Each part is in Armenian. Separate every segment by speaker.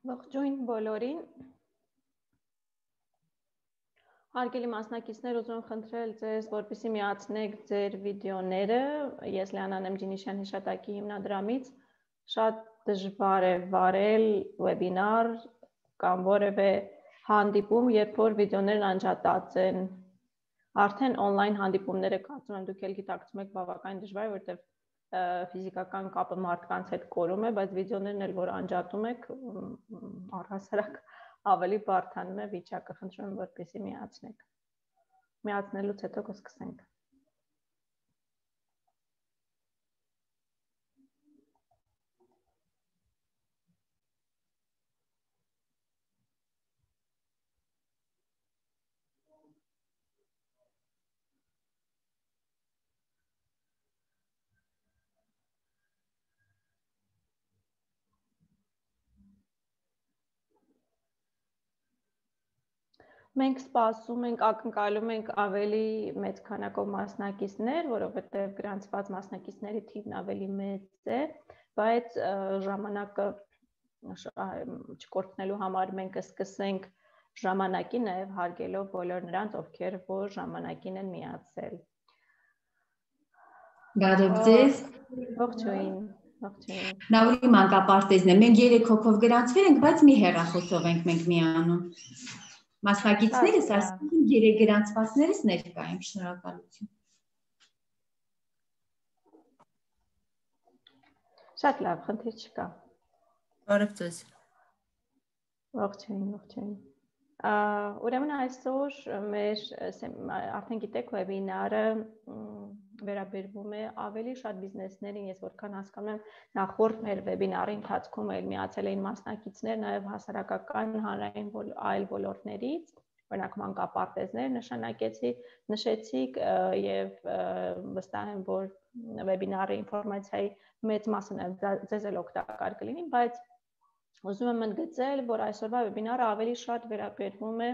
Speaker 1: Ողջույն բոլորին։ Հարգելի մասնակիցներ, ուզում եմ խնդրել ձեզ, որպեսզի միացնեք ձեր վիդեոները։ Ես Լիանան եմ Ջինիշյան հիշատակի հիմնադրամից։ Շատ դժվար է վարել վեբինար կամ որևէ հանդիպում, երբ որ վիդեոներն անջատած են։ Արդեն on-line հանդիպումները կարծում եմ դուք էլ գիտակցում եք բավական դժվար, որտեղ ֆիզիկական կապը մարդկանց հետ կորում է, բայց վիդեոներն էլ որ անջատում եք, առհասարակ ավելի բարդանում է վիճակը, խնդրում եմ որպեսզի միացնեք։ Միացնելուց հետո կսկսենք։ Մենք սպասում ենք, ակնկալում ենք ավելի մեծ քանակով մասնակիցներ, որովհետև գրանցված մասնակիցների թիվն ավելի մեծ է, բայց ժամանակը չկորցնելու համար մենք կսկսենք ժամանակի, նաև հարգելով բոլոր նրանց, ովքեր որ ժամանակին են միացել։
Speaker 2: Բարև ձեզ։
Speaker 1: Ողջույն։
Speaker 2: Նաուրի մանկապարտեզն է։ Մենք 3 հոգով գրանցվել ենք, բայց մի հեռախոսով ենք մենք միանում։ Մասնակիցներս, այսինքն 3 գրանցվածներս ներկա են, շնորհակալություն։
Speaker 1: Շատ լավ, խնդիր չկա։
Speaker 3: Բարև ձեզ։
Speaker 1: Ողջույն։ Ուրեմն այսօր մեր արդեն գիտեք վեբինարը վերաբերվում է ավելի շատ բիզնեսներին, ես որքան հասկանում եմ, նախորդ մեր վեբինարի ընթացքում էլ միացել էին մասնակիցներ նաև հասարակական հանրային այլ ոլորտներից, օրինակ մանկապարտեզներ նշեցիք եւ վստահ եմ, որ վեբինարի ինֆորմացիայի մեծ մասը ձեզ էլ օգտակար կլինի, բայց ուզում եմ ընդգծել, որ այսօրվա վեբինարը ավելի շատ վերաբերվում է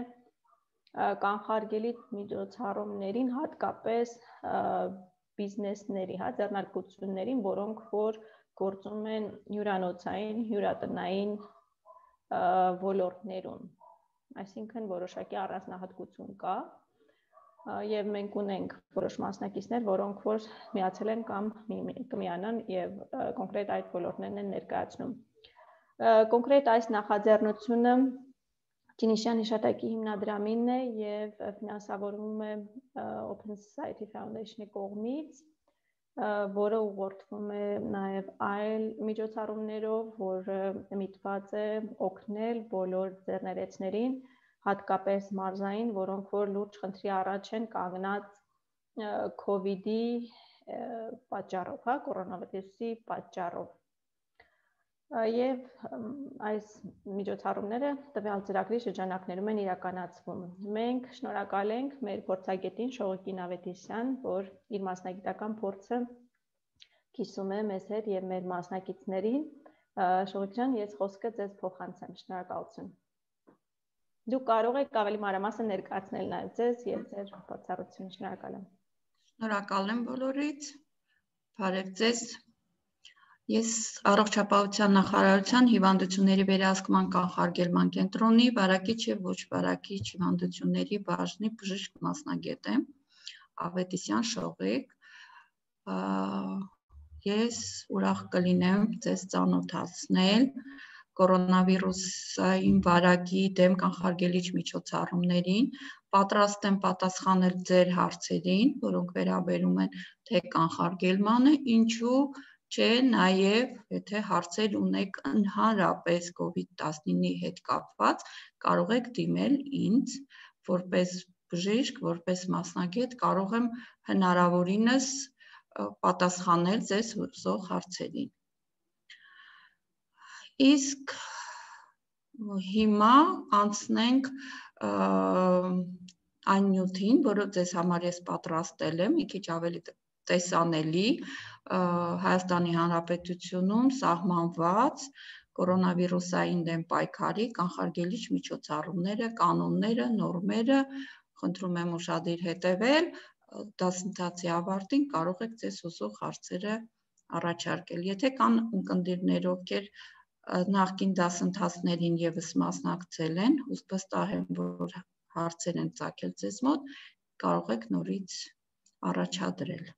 Speaker 1: կանխարգելի միջոցառումներին, հատկապես բիզնեսների, ձեռնարկություններին, որոնք որ գործում են հյուրանոցային, հյուրատնային ոլորտներում, այսինքն որոշակի առանձնահատկություն կա եւ մենք ունենք որոշ մասնակիցներ, որոնք որ միացել են կամ կմիանան եւ կոնկրետ այդ ոլորտներն են ներկայացնում։ Կոնկրետ այս նախաձեռնությունը Ջինիշյան հիշատակի հիմնադրամին է եւ ֆինանսավորվում է Open Society Foundation-ի կողմից, որը ուղղորդվում է նաեւ այլ միջոցառումներով, որը միտված է օգնել բոլոր ձեռներեցներին, հատկապես մարզային, որոնք որ լուրջ խնդրի առաջ են կանգնած COVID-ի պատճառով, կորոնավիրուսի պատճառով։ Եվ այս միջոցառումները տվյալ ծրագրի շրջանակներում են իրականացվում։ Մենք շնորհակալ ենք մեր փորձագետին Շողոկին Ավետիսյան, որ իր մասնագիտական փորձը կիսում է մեզ հետ եւ մեր մասնակիցներին։ Շողոկ ջան, ես խոսքը ձեզ փոխանցեմ։ Շնորհակալություն։ Դուք կարող եք ավելի մանրամասն ներկայացնել նաեւ ձեզ եւ ձեր փորձառությունը։ Շնորհակալ եմ։
Speaker 3: Շնորհակալ եմ բոլորից։ Բարև ձեզ։ Ես առողջապահության նախարարության հիվանդությունների վերահսկման կանխարգելման կենտրոնի վարակիչ եւ ոչ վարակիչ հիվանդությունների բաժնի բժիշկ մասնագետ եմ, Ավետիսյան Շողիկ։ Ես ուրախ կլինեմ ձեզ ծանոթացնել կորոնավիրուսային վարակի դեմ կանխարգելիչ միջոցառումներին, պատրաստ եմ պատասխանել ձեր հարցերին, որոնք վերաբերում են թե կանխարգելմանը, ինչու չէ, նաև եթե հարցեր ունեք ընդհանրապես COVID-19-ի հետ կապված, կարող եք դիմել ինձ, որպես բժիշկ, որպես մասնագետ, կարող եմ հնարավորինս պատասխանել ձեզ հուզող հարցերին։ Իսկ հիմա անցնենք այն նյութին, որը ձեզ համար ես պատրաստել եմ, մի քիչ ավելի տեսանելի Հայաստանի Հանրապետությունում սահմանված կորոնավիրուսային դեմ պայքարի կանխարգելիչ միջոցառումները, կանոնները, նորմերը, խնդրում եմ ուշադիր հետևել, դասընթացի ավարտին կարող եք ձեզ հուզող հարցերը առաջարկել։ Եթե կան ունկնդիրներ, ովքեր նախկին դասընթացներին եւս մասնակցել են, ուստի վստահ եմ, որ հարցեր են ծագել ձեզ մոտ, կարող եք նորից առաջադրել։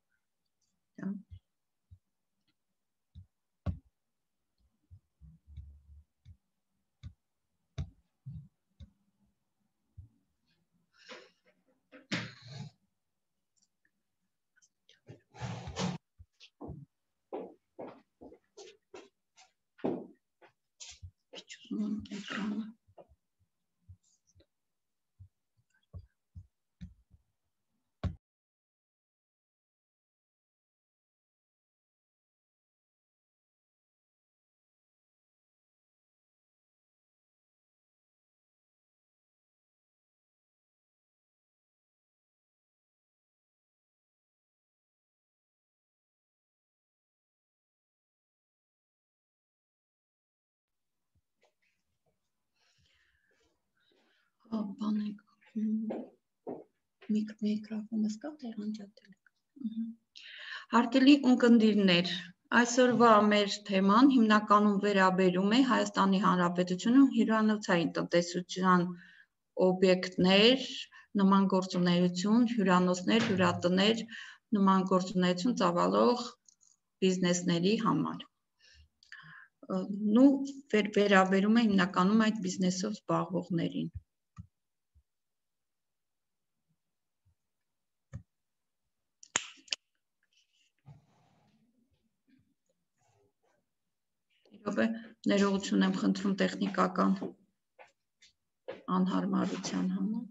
Speaker 3: Բանեք, միկրոֆոնը սկա թե անջատել եք։ Հարգելի ունկնդիրներ, այսօրվա մեր թեման հիմնականում վերաբերում է Հայաստանի Հանրապետությունում հյուրանոցային տնտեսության օբյեկտներ, նման գործունեություն, հյուրանոցներ, հյուրատներ, նման գործունեություն ծավալող բիզնեսների համար։ Վերաբերում է հիմնականում այդ բիզնեսով զբաղվողներին։ Ներողություն եմ խնդրում տեխնիկական անհարմարության համար։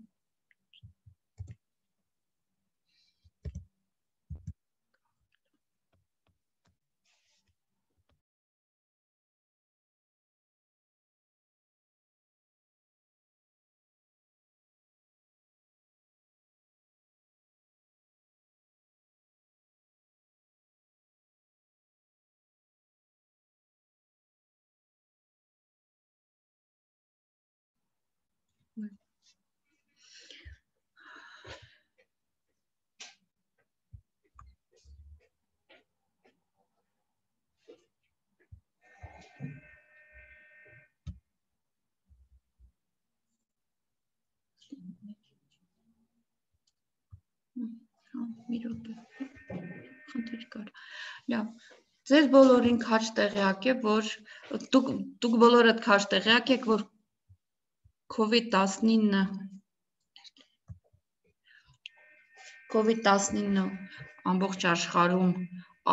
Speaker 3: Ձեզ բոլորին քաջ տեղյակ է, որ դուք բոլորդ քաջ տեղյակ եք, որ COVID-19 ամբողջ աշխարհում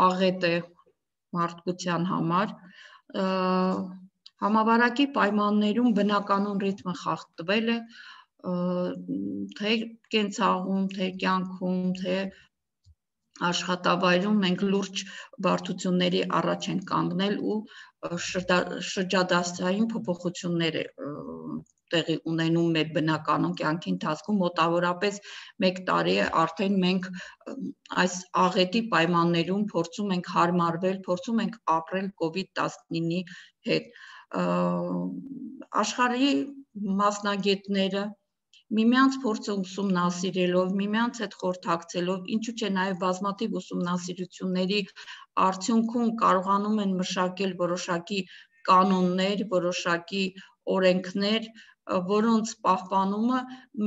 Speaker 3: աղետ է մարդկության համար, համավարակի պայմաններում բնականon ռիթմը խախտվել է, թե կենցաղում, թե կյանքում, թե աշխատավայրում մենք լուրջ բարդությունների առաջ են կանգնել ու շրջադարձային փոփոխություններ տեղի ունենում մեր բնականon կյանքի ընթացքում մոտավորապես 1 տարի է արդեն մենք այս աղետի պայմաններում փորձում ենք հարմարվել, փորձում ենք ապրել COVID-19-ի հետ։ Աշխարհի մասնագետները միմյանց փորձը ուսումնասիրելով, միմյանց հետ խորհրդակցելով, ինչու՞ չէ նաև բազմաթիվ ուսումնասիրությունների արդյունքում կարողանում են մշակել որոշակի կանոններ, որոշակի օրենքներ, որոնց պահպանումը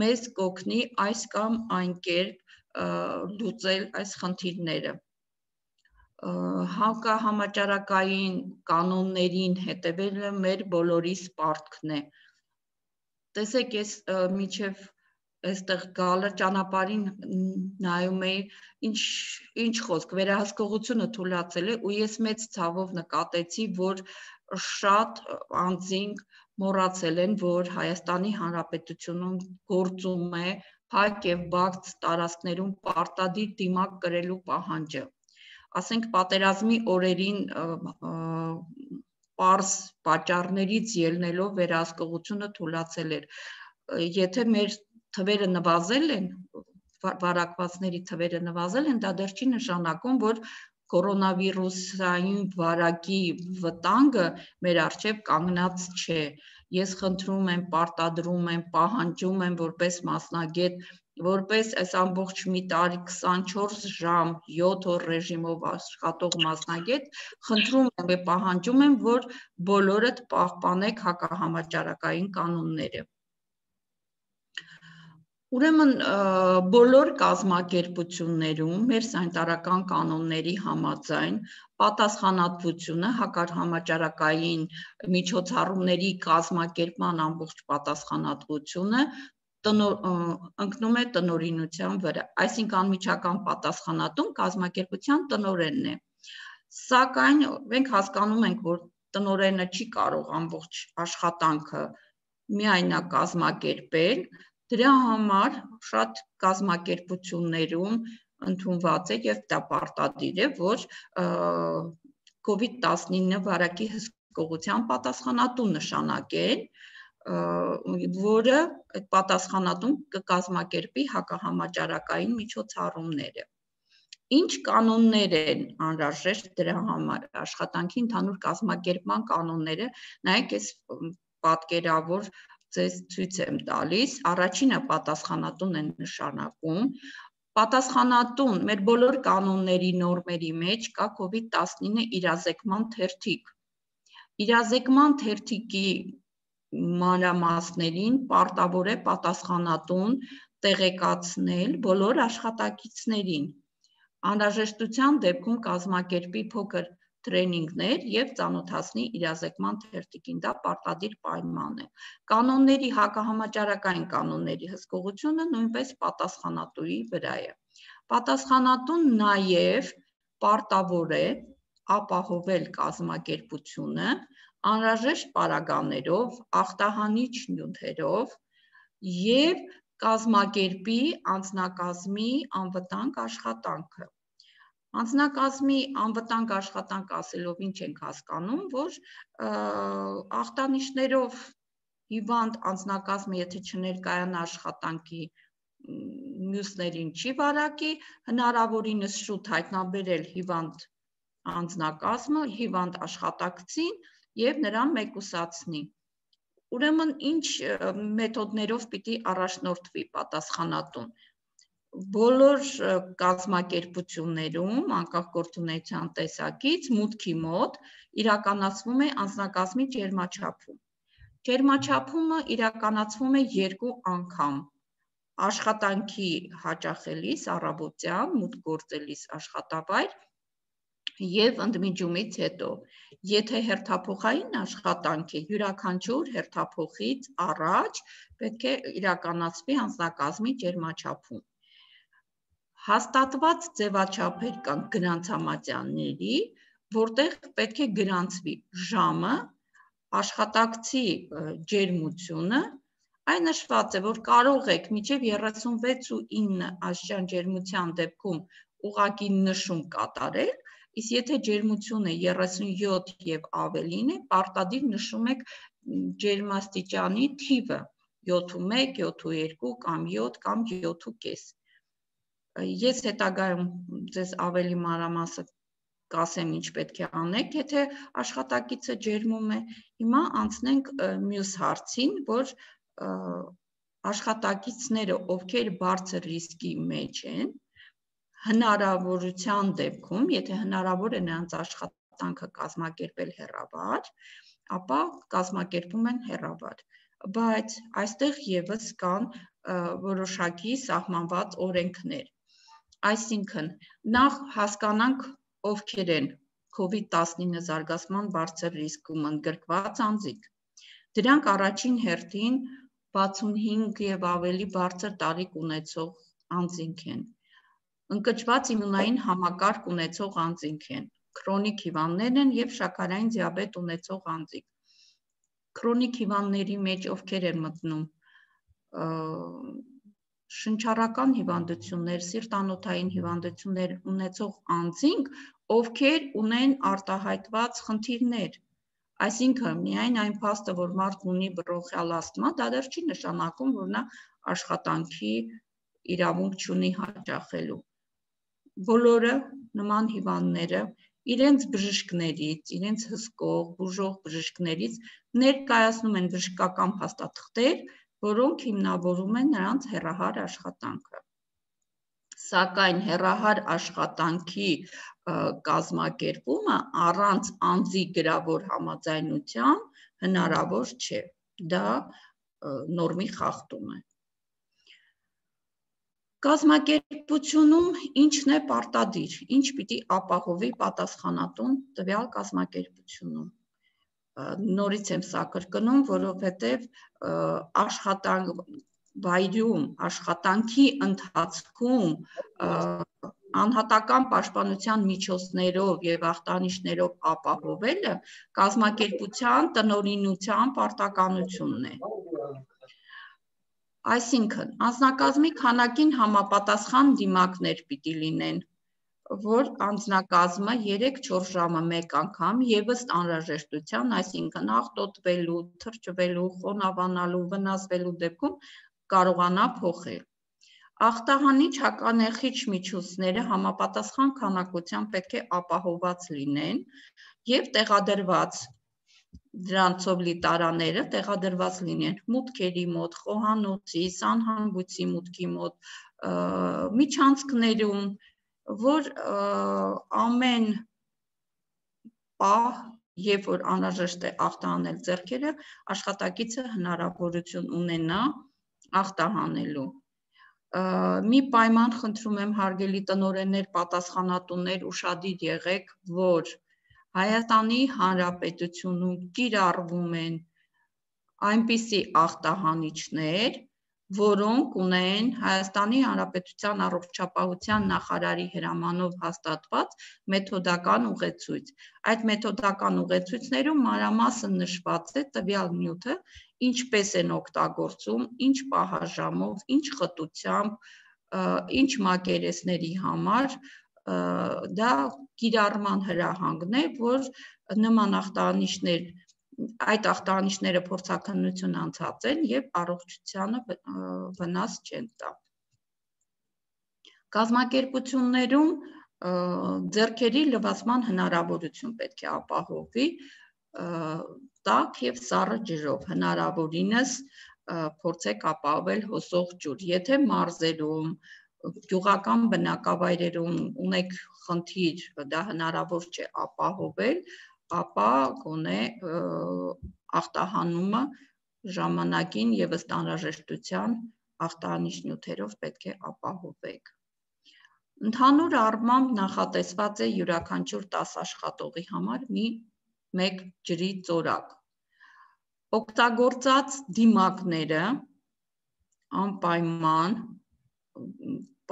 Speaker 3: մեզ կօգնի այս կամ այն կերպ լուծել այս խնդիրները։ Հակահամաճարակային կանոններին հետևելը մեր բոլորիս պարտքն է։ Տեսեք, ես միջև այստեղ գալը ճանապարհին նայում էի, ինչ խոսք, վերահսկողությունը թույլատրել է ու ես մեծ ցավով նկատեցի, որ շատ անձինք մոռացել են, որ Հայաստանի Հանրապետությունում գործում է փակ եւ բաց տարածքներում պարտադիր դիմակ կրելու պահանջը։ Ասենք պատերազմի օրերին պարզ պատճառներից ելնելով վերահսկողությունը թույլատրել էր։ Եթե մեր թվերը նվազել են, վարակվածների թվերը նվազել են, դա դեռ չի նշանակում, որ կորոնավիրուսային վարակի վտանգը մեր առջև կանգնած չէ։ Ես խնդրում եմ, պարտադրում եմ, պահանջում եմ որպես մասնագետ որպես այս ամբողջ մի տարի 24 ժամ 7 օր ռեժիմով աշխատող մասնագետ, խնդրում եմ եւ պահանջում եմ, որ բոլորդ պահպանեք հակահամաճարակային կանոնները։ Ուրեմն բոլոր կազմակերպություններում մեր սանիտարական կանոնների համաձայն պատասխանատվությունը հակահամաճարակային միջոցառումների կազմակերպման ամբողջ պատասխանատվությունը ընկնում է տնօրինության վրա, այսինքն անմիջական պատասխանատուն կազմակերպության տնօրենն է։ Սակայն մենք հասկանում ենք, որ տնօրենը չի կարող ամբողջ աշխատանքը միայնակ կազմակերպել, դրա համար շատ կազմակերպություններում ընդունված է եւ դա պարտադիր է, որ COVID-19 վարակի հսկողության պատասխանատուն նշանակեն, որը այդ պատասխանատուն կկազմակերպի հակահամաճարակային միջոցառումները։ Ինչ կանոններ են անհրաժեշտ դրա համար, աշխատանքի ընդհանուր կազմակերպման կանոնները, նայեք այս պատկերավոր ձեզ ցույց եմ տալիս, առաջինը պատասխանատուն են նշանակում, պատասխանատուն մեր բոլոր կանոնների նորմերի մեջ կա COVID-19 իրազեկման թերթիկ։ Իրազեկման թերթիկի մանրամասներին պարտավոր է պատասխանատուն տեղեկացնել բոլոր աշխատակիցներին։ Անհրաժեշտության դեպքում կազմակերպի փոքր տրեյնինգներ եւ ծանոթացնի իրազեկման թերթիկին, դա պարտադիր պայման է։ Կանոնների հակահամաճարակային կանոնների հսկողությունը նույնպես պատասխանատուի վրա է։ Պատասխանատուն նաեւ պարտավոր է ապահովել կազմակերպությունը անհրաժեշտ պարագաներով, ախտահանիչ նյութերով եւ կազմակերպի անձնակազմի անվտանգ աշխատանքը։ Անձնակազմի անվտանգ աշխատանք ասելով ինչ ենք հասկանում, որ ախտանիշներով հիվանդ անձնակազմը եթե չներկայանա աշխատանքի մյուսներին չի վարակի, հնարավորինս շուտ հայտնաբերել հիվանդ անձնակազմը, հիվանդ աշխատակցին եւ նրան մեկուսացնի։ Ուրեմն ինչ մեթոդներով պիտի առաջնորդվի պատասխանատուն։ Բոլոր կազմակերպություններում անկախ գործունեության տեսակից մուտքի մոտ իրականացվում է անձնակազմի ջերմաչափում։ Ջերմաչափումը իրականացվում է 2 անգամ։ Աշխատանքի հաճախելիս առավոտյան մուտք գործելիս աշխատավայր եւ ընդմիջումից հետո։ Եթե հերթափոխային աշխատանք է, յուրաքանչյուր հերթափոխից առաջ պետք է իրականացվի անձնակազմի ջերմաչափում։ Հաստատված ձևաչափեր կան գրանցամատյանների, որտեղ պետք է գրանցվի ժամը, աշխատակցի ջերմությունը, այն նշված է, որ կարող եք մինչև 36.9 աստիճան ջերմության դեպքում ուղղակի նշում կատարել, իսկ եթե ջերմությունը 37 եւ ավելին է, պարտադիր նշում եք ջերմաստիճանի թիվը 7.1, 7.2 կամ 7 կամ 7.5։ Ես հետագայում ձեզ ավելի մանրամասն կասեմ ինչ պետք է անեք, եթե աշխատակիցը ջերմում է։ Հիմա անցնենք մյուս հարցին, որ աշխատակիցները, ովքեր բարձր ռիսկի մեջ են, հնարավորության դեպքում, եթե հնարավոր է նրանց աշխատանքը կազմակերպել հեռավար, ապա կազմակերպում են հեռավար։ Բայց այստեղ եւս կան որոշակի սահմանված օրենքներ։ Այսինքն, նախ հասկանանք ովքեր են COVID-19 զարգացման բարձր ռիսկում ընդգրկված անձիկ։ Դրանք առաջին հերթին 65 եւ ավելի բարձր տարիք ունեցող անձինք են։ Ընկճված իմունային համակարգ ունեցող անձինք են, քրոնիկ հիվանդներ են եւ շաքարային դիաբետ ունեցող անձիկ։ Քրոնիկ հիվանդների մեջ ովքեր են մտնում շնչառական հիվանդություններ, սիրտանոթային հիվանդություններ ունեցող անձինք, ովքեր ունեն արտահայտված խնդիրներ։ Այսինքն, միայն այն փաստը, որ մարդն ունի բրոնխիալ ասթմա, դա դեռ չի նշանակում, որ նա աշխատանքի իրավունք չունի հաճախելու։ Բոլորը նման հիվանդները իրենց բժիշկներից, իրենց հսկող, բուժող բժիշկներից ներկայացնում են բժշկական փաստաթղթեր, որոնք հիմնավորում են նրանց հեռահար աշխատանքը։ Սակայն հեռահար աշխատանքի կազմակերպումը առանց անձի գրավոր համաձայնության հնարավոր չէ, դա նորմի խախտում է։ Կազմակերպությունում ինչն է պարտադիր, ինչ պիտի ապահովի պատասխանատուն տվյալ կազմակերպությունում։ Նորից եմ սա կրկնում, որովհետև վայրում աշխատանքի ընթացքում անհատական պաշտպանության միջոցներով եւ ախտանիշներով ապահովելը կազմակերպության տնօրինության պարտականությունն է։ Այսինքն, անձնակազմի քանակին համապատասխան դիմակներ պիտի լինեն, որ անձնակազմը 3-4 ժամը մեկ անգամ եւ ըստ անհրաժեշտության, այսինքն աղտոտվելու, թրջվելու, խոնավանալու, վնասվելու դեպքում կարողանա փոխել։ Ախտահանիչ հականերխիչ միջոցները համապատասխան քանակությամբ պետք է ապահովված լինեն եւ տեղադրված դրանցով լի տարաները տեղադրված լինեն մուտքերի մոտ, խոհանոցի, սանհանգույցի մուտքի մոտ, միջանցքներում, որ ամեն պահ, երբ որ անհրաժեշտ է ախտահանել ձեռքերը, աշխատակիցը հնարավորություն ունենա ախտահանելու։ Մի պայման խնդրում եմ հարգելի տնօրեններ, պատասխանատուներ, ուշադիր եղեք, որ Հայաստանի Հանրապետությունում կիրառվում են այնպիսի ախտահանիչներ, որոնք ունեն Հայաստանի Հանրապետության առողջապահության նախարարի հրամանով հաստատված մեթոդական ուղեցույց։ Այդ մեթոդական ուղեցույցներում մանրամասն նշված է տվյալ նյութը, ինչպես են օգտագործում, ինչ պահաժամով, ինչ խտությամբ, ինչ մակերեսների համար, դա կիրառման հրահանգն է, որ նման ախտահանիչներ, այդ ախտահանիչները փորձաքննություն անցած են եւ առողջությանը վնաս չեն տա։ Կազմակերպություններում ձեռքերի լվացման հնարավորություն պետք է ապահովվի տաք եւ սառը ջրով, հնարավորինս փորձեք ապահովել հոսող ջուր, եթե մարզերում, գյուղական բնակավայրերում ունեք խնդիր, դա հնարավոր չէ ապահովել, ապա գոնե ախտահանումը ժամանակին եւ ըստ անհրաժեշտության ախտահանիչ նյութերով պետք է ապահովեք։ Ընդհանուր առմամբ նախատեսված է յուրաքանչյուր 10 աշխատողի համար մեկ ջրի ծորակ։ Օգտագործած դիմակները անպայման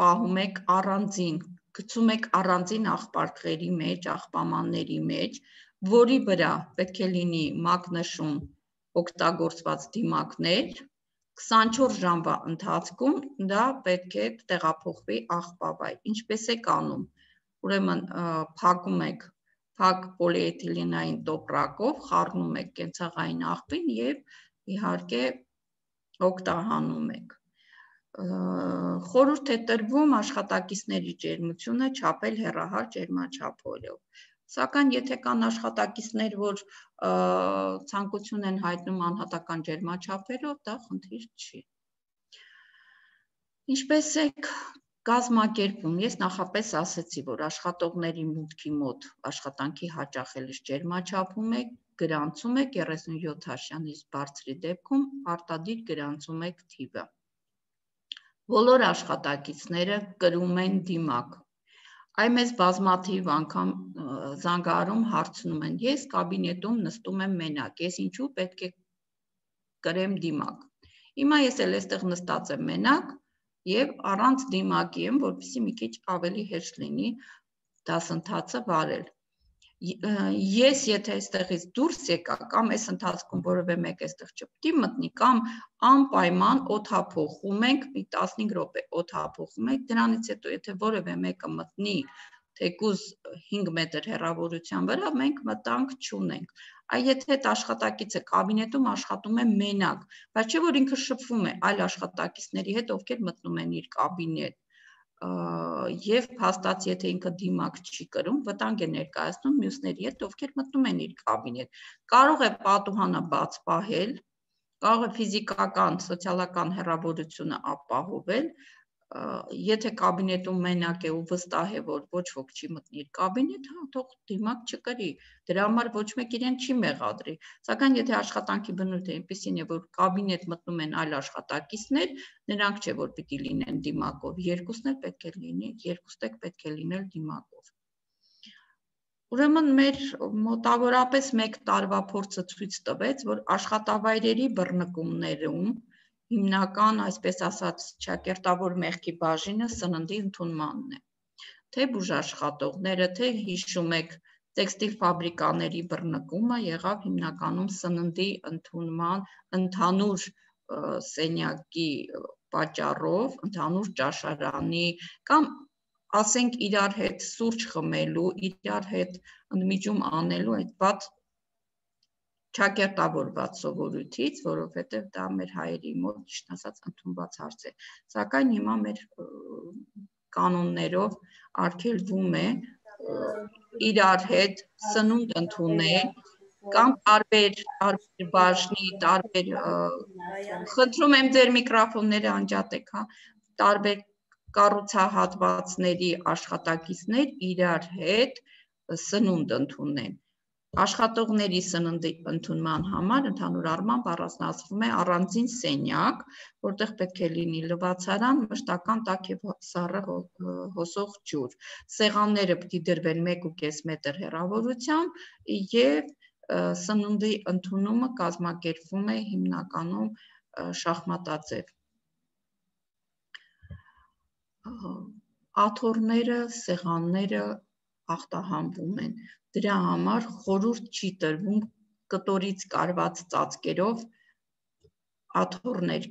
Speaker 3: պահում եք առանձին, գցում եք առանձին աղպարտղերի մեջ, աղբամանների մեջ, որի վրա պետք է լինի մակնշուն օգտագործված դիմակներ, 24 ժամվա ընթացքում դա պետք է տեղափոխվի աղբավայր։ Ինչպես եք անում, ուրեմն փակում եք փակ պոլիէթիլենային տոպրակով, խառնում եք կենցաղային աղբին եւ իհարկե օգտահանում եք։ Խորհուրդ է տրվում աշխատակիցների ջերմությունը չափել հեռահար ջերմաչափերով։ Սակայն եթե կան աշխատակիցներ, որ ցանկություն են հայտնում անհատական ջերմաչափերով, դա խնդիր չի։ Ինչպես եք կազմակերպում, ես նախապես ասեցի, որ աշխատողների մուտքի մոտ աշխատանքի հաճախելիս ջերմաչափում եք, գրանցում եք 37 հաշյանից բարձրի դեպքում արտադիր գրանցում եք թիվը։ Բոլոր աշխատակիցները կրում են դիմակ։ Այ մեզ բազմաթիվ անգամ զանգահարում հարցնում են, ես կաբինետում նստում եմ մենակ, ես ինչու պետք է կրեմ դիմակ։ Հիմա ես էլ այստեղ նստած եմ մենակ եւ առանց դիմակի եմ, որպեսզի մի քիչ ավելի հեշտ լինի դասընթացը վարել։ Ես եթե այստեղից դուրս եկա կամ այս ընթացքում որևէ մեկ այստեղ չպետք է մտնի կամ անպայման օդափոխում ենք, մի 15 րոպե օդափոխում ենք, դրանից հետո եթե որևէ մեկը մտնի թեկուզ 5 մետր հեռավորության վրա, մենք մտանք չունենք։ Այ եթե այդ աշխատակիցը կաբինետում աշխատում է մենակ, բայց չէ որ ինքը շփվում է այլ աշխատակիցների հետ, ովքեր մտնում են իր կաբինետ, եւ փաստացի եթե ինքը դիմակ չի կրում, վտանգ է ներկայացնում մյուսների հետ, ովքեր մտնում են իր կաբինետ։ Կարող է պատուհանը բաց պահել, կարող է ֆիզիկական, սոցիալական հեռավորությունը ապահովել, եթե կաբինետում մենակ է ու վստահ է, որ ոչ ոք չի մտնի իր կաբինետ, թող դիմակ չկրի, դրա համար ոչ մեկ իրեն չի մեղադրի, սակայն եթե աշխատանքի բնույթը այնպիսին է, որ կաբինետ մտնում են այլ աշխատակիցներ, նրանք չէ, որ պիտի լինեն դիմակով, երկուսն էլ պետք է լինել դիմակով։ Ուրեմն մեր մոտավորապես 1 տարվա փորձը ցույց տվեց, որ աշխատավայրերի բռնկումներում հիմնական, այսպես ասած, ճակերտավոր մեղքի բաժինը սննդի ընդունմանն է։ Թե բուժաշխատողները, թե հիշում եք տեքստիլ ֆաբրիկաների բռնկումը եղավ հիմնականում սննդի ընդունման ընդհանուր սենյակի պատճառով, ընդհանուր ճաշարանի կամ ասենք իրար հետ սուրճ խմելու, իրար հետ ընդմիջում անելու այդ վատ ճակերտավորված սովորույթից, որովհետև դա մեր հայերի մոտ ճիշտ ասած ընդունված հարց է։ Սակայն հիմա մեր կանոններով արգելվում է իրար հետ սնունդ ընդունել կամ տարբեր բաժնի, խնդրում եմ ձեր միկրոֆոնները անջատեք, տարբեր կառուցահատվածների աշխատակիցներ իրար հետ սնունդ ընդունեն։ Աշխատողների սննդի ընդունման համար ընդհանուր առմամբ առանձնացվում է առանձին սենյակ, որտեղ պետք է լինի լվացարան, մշտական տաք եւ սառը հոսող ջուր։ Սեղանները պիտի դրվեն 1.5 մետր հեռավորությամբ եւ սննդի ընդունումը կազմակերպվում է հիմնականում շախմատաձև։ Աթոռները, սեղանները ախտահանվում են։ Դրա համար խորհուրդ չի տրվում կտորից կարված ծածկերով աթոռներ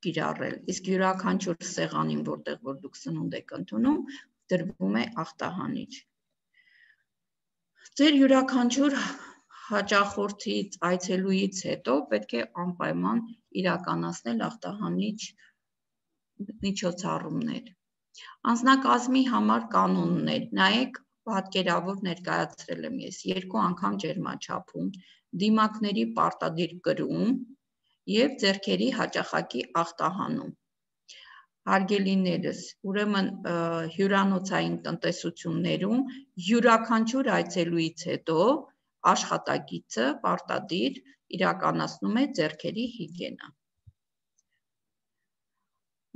Speaker 3: կիրառել, իսկ յուրաքանչյուր սեղանին, որտեղ որ դուք սնունդ եք ընդունում, դրվում է ախտահանիչ։ Ձեր յուրաքանչյուր հաճախորդից, այցելուից հետո պետք է անպայման իրականացնել ախտահանիչ միջոցառումներ։ Անձնակազմի համար կանոններ, նայեք պատկերավոր ներկայացրել եմ ես 2 անգամ ջերմաչափում, դիմակների պարտադիր կրում եւ ձեռքերի հաճախակի ախտահանում։ Հարգելիներս, ուրեմն հյուրանոցային տնտեսություններում յուրաքանչյուր այցելուից հետո աշխատակիցը պարտադիր իրականացնում է ձեռքերի հիգիենա։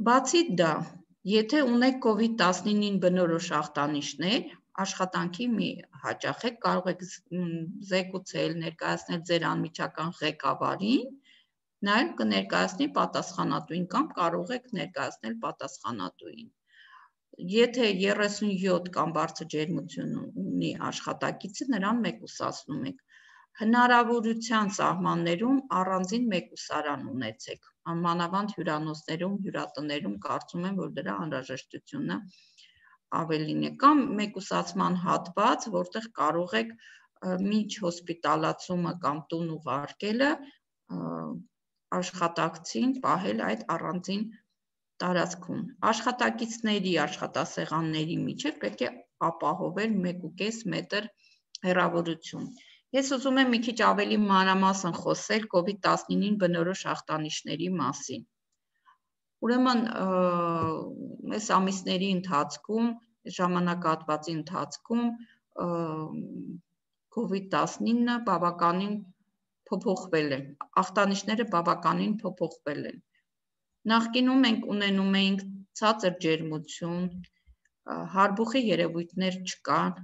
Speaker 3: Բացի դա, եթե ունեք COVID-19-ին բնորոշ ախտանիշներ, աշխատանքի մի հաճախեք, կարող եք զեկուցել, ներկայացնել ձեր անմիջական ղեկավարին, նաև կներկայացնի պատասխանատուին կամ կարող եք ներկայացնել պատասխանատուին։ Եթե 37 կամ բարձր ջերմություն ունի աշխատակիցը, նրան մեկուսացնում եք։ Հնարավորության սահմաններում առանձին մեկուսարան ունեցեք, մանավանդ հյուրանոցներում, հյուրատներում կարծում եմ, որ դրա անհրաժեշտությունը ավելին է, կամ մեկուսացման հատված, որտեղ կարող եք միջ հոսպիտալացումը կամ տուն ուղարկելը աշխատակցին պահել այդ առանձին տարածքում։ Աշխատակիցների, աշխատասեղանների միջև պետք է ապահովել 1.5 մետր հեռավորություն։ Ես ուզում եմ մի քիչ ավելի մանրամասն խոսել COVID-19-ին բնորոշ ախտանիշների մասին։ Ուրեմն, այս ամիսների ընթացքում, ժամանակահատվածի ընթացքում COVID-19-ը բավականին փոփոխվել է, ախտանիշները բավականին փոփոխվել են։ Նախկինում մենք ունենում էինք ցածր ջերմություն, հարբուխի երևույթներ չկան,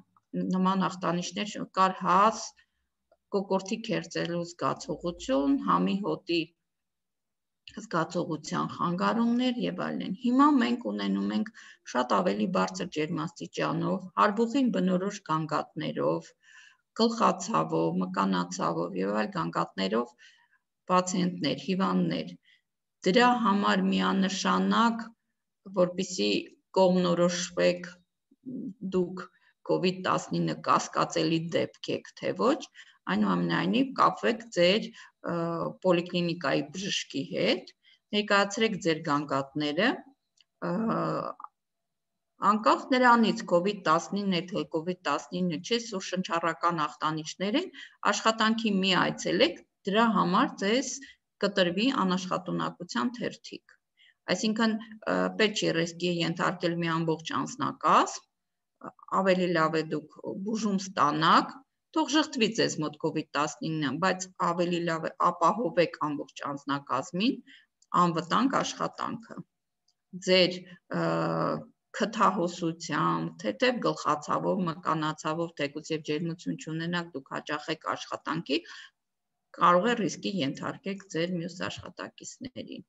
Speaker 3: նման ախտանիշներ կար հազ, կոկորդի քերծելու զգացողություն, համի հոտի զգացողության խանգարումներ եւ այլն։ Հիմա մենք ունենում ենք շատ ավելի բարձր ջերմաստիճանով, հարբուխին բնորոշ գանգատներով, գլխացավով, մկանացավով եւ այլ գանգատներով պացիենտներ, հիվանդներ։ Դրա համար միանշանակ, որպեսզի կողմնորոշվեք դուք COVID-19 կասկածելի դեպք եք, թե ոչ, այնուամենայնիվ կապվեք ձեր պոլիկլինիկայի բժշկի հետ, ներկայացրեք ձեր գանգատները, անկախ նրանից COVID-19 է, թե COVID-19 չէ, սուր շնչառական ախտանիշներ են, աշխատանքի մի այցելեք, դրա համար ձեզ կտրվի անաշխատունակության թերթիկ։ Այսինքն պետք չէ ռիսկի ենթարկել մի ամբողջ անձնակազմ, ավելի լավ է դուք բուժում ստանաք, թող ժխտվի ձեզ մոտ COVID-19, բայց ավելի լավ է ապահովեք ամբողջ անձնակազմին անվտանգ աշխատանքը։ Ձեր քթահոսությամբ, թեթև գլխացավով, մկանացավով, թեկուզ եւ ջերմություն չունենաք, դուք հաճախեք աշխատանքի, կարող է ռիսկի ենթարկեք ձեր մյուս աշխատակիցներին։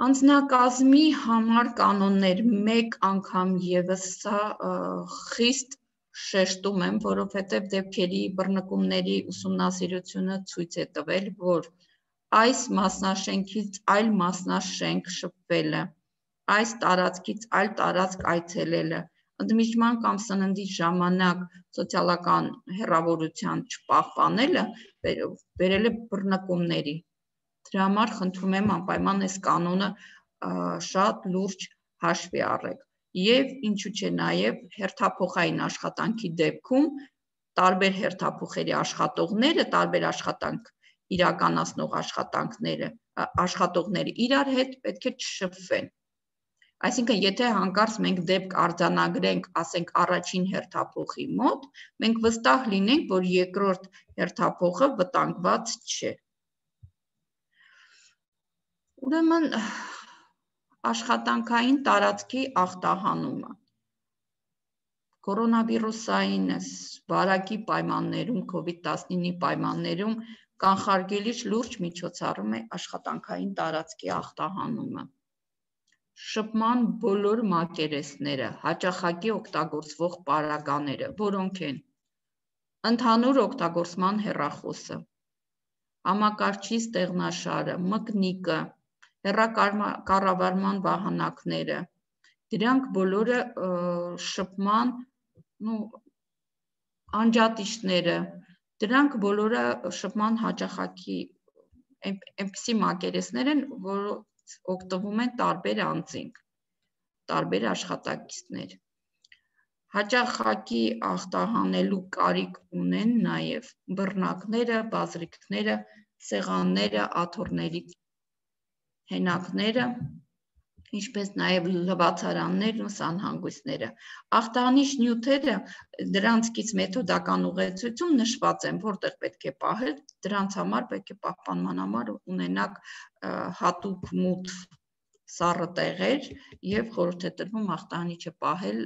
Speaker 3: Անձնակազմի համար կանոններ մեկ անգամ եւս սա խիստ շեշտում եմ, որովհետեւ դեպքերի բռնկումների ուսումնասիրությունը ցույց է տվել, որ այս մասնաշենքից այլ մասնաշենք շփվելը, այս տարածքից այլ տարածք այցելելը, ընդմիջման կամ սննդի ժամանակ սոցիալական հեռավորության չպահպանելը բերել է բռնկումների։ Դրա համար խնդրում եմ անպայման այս կանոնը շատ լուրջ հաշվի առեք։ Եվ ինչու՞ չէ նաև հերթափոխային աշխատանքի դեպքում տարբեր հերթափոխերի աշխատողները, տարբեր աշխատանք իրականացնող աշխատողները իրար հետ պետք է չշփվեն։ Այսինքն, եթե հանկարծ մենք դեպք արձանագրենք, ասենք առաջին հերթափոխի մոտ, մենք վստահ լինենք, որ երկրորդ հերթափոխը վտանգված չէ։ Ուրեմն աշխատանքային տարածքի ախտահանումը կորոնավիրուսային վարակի պայմաններում, COVID-19-ի պայմաններում կանխարգելիչ լուրջ միջոցառում է աշխատանքային տարածքի ախտահանումը։ Շփման բոլոր մակերեսները, հաճախակի օգտագործվող պարագաները, որոնք են ընդհանուր օգտագործման հեռախոսը, համակարգչի ստեղնաշարը, մկնիկը, հեռակառավարման վահանակները, դրանք բոլորը շփման անջատիչները, դրանք բոլորը շփման հաճախակի այնպիսի մակերեսներ են, որոնց օգտվում են տարբեր անձինք, տարբեր աշխատակիցներ։ Հաճախակի ախտահանելու կարիք ունեն նաև բռնակները, բազրիկները, սեղանները, աթոռների հենակները, ինչպես նաև լվացարաններն ու սանհանգույցները։ Ախտահանիչ նյութերը, դրանցից մեթոդական ուղեցույցում նշված են, որտեղ պետք է պահել, դրանց համար պետք է պահպանման համար ունենաք հատուկ մութ սառը տեղեր եւ խորհուրդ է տրվում ախտահանիչը պահել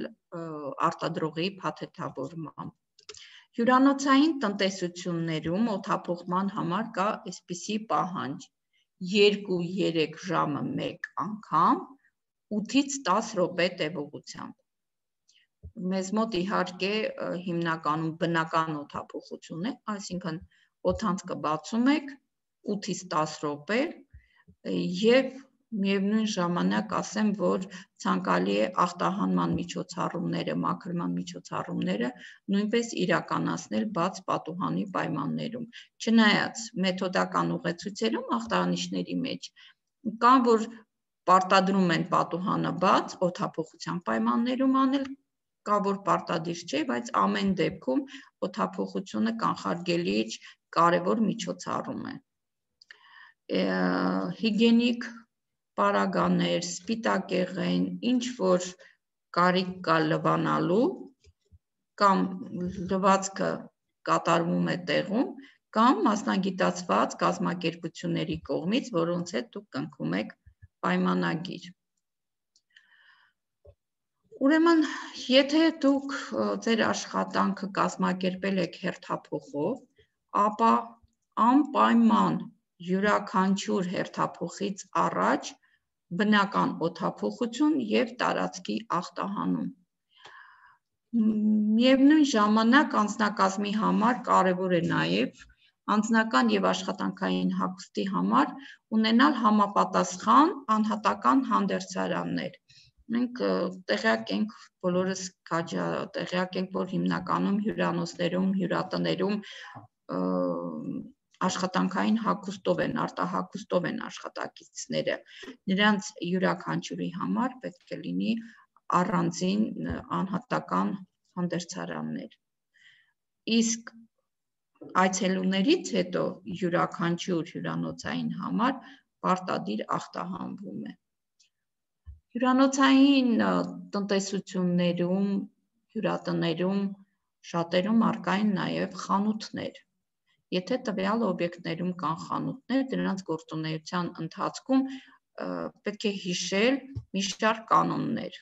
Speaker 3: արտադրողի փաթեթավորմամբ։ Հյուրանոցային տնտեսություններում օդափոխման համար կա այսպիսի պահանջ 2-3 ժամը մեկ անգամ 8-ից 10 րոպե տևողությամբ։ Մեզ մոտ իհարկե հիմնականում բնական օդափոխություն է, այսինքն օդանցքը բացում եք 8-ից 10 րոպե եւ միևնույն ժամանակ ասեմ, որ ցանկալի է ախտահանման միջոցառումները, մաքրման միջոցառումները նույնպես իրականացնել բաց պատուհանի պայմաններում։ Չնայած մեթոդական ուղեցույցերում ախտահանիչների մեջ կան, որ պարտադրում են պատուհանը բաց օդափոխության պայմաններում անել, կա որ պարտադիր չէ, բայց ամեն դեպքում օդափոխությունը կանխարգելիչ կարևոր միջոցառում է։ Հիգիենիկ պարագաներ, սպիտակեղեն, ինչ որ կարիք կա լվանալու կամ լվացքը կատարվում է տեղում կամ մասնագիտացված կազմակերպությունների կողմից, որոնց հետ դուք կնքում եք պայմանագիր։ Ուրեմն, եթե դուք ձեր աշխատանքը կազմակերպել եք հերթափոխով, ապա անպայման յուրաքանչյուր հերթափոխից առաջ բնական օդափոխություն եւ տարածքի ախտահանում։ Միևնույն ժամանակ անձնակազմի համար կարևոր է նաեւ անձնական եւ աշխատանքային հագուստի համար ունենալ համապատասխան անհատական հանդերձարաններ։ Մենք տեղյակ ենք, բոլորս տեղյակ ենք, որ հիմնականում հյուրանոցներում, հյուրատներում աշխատանքային հագուստով են, արտահագուստով են աշխատակիցները։ Նրանց յուրաքանչյուրի համար պետք է լինի առանձին անհատական հանդերձարաններ։ Իսկ այցելուներից հետո յուրաքանչյուր հյուրանոցային համար պարտադիր ախտահանվում է։ Հյուրանոցային տնտեսություններում, հյուրատներում շատերում առկա են նաև խանութներ։ Եթե տվյալ օբյեկտներում կան խանութներ, դրանց գործունեության ընթացքում պետք է հիշել մի շարք կանոններ։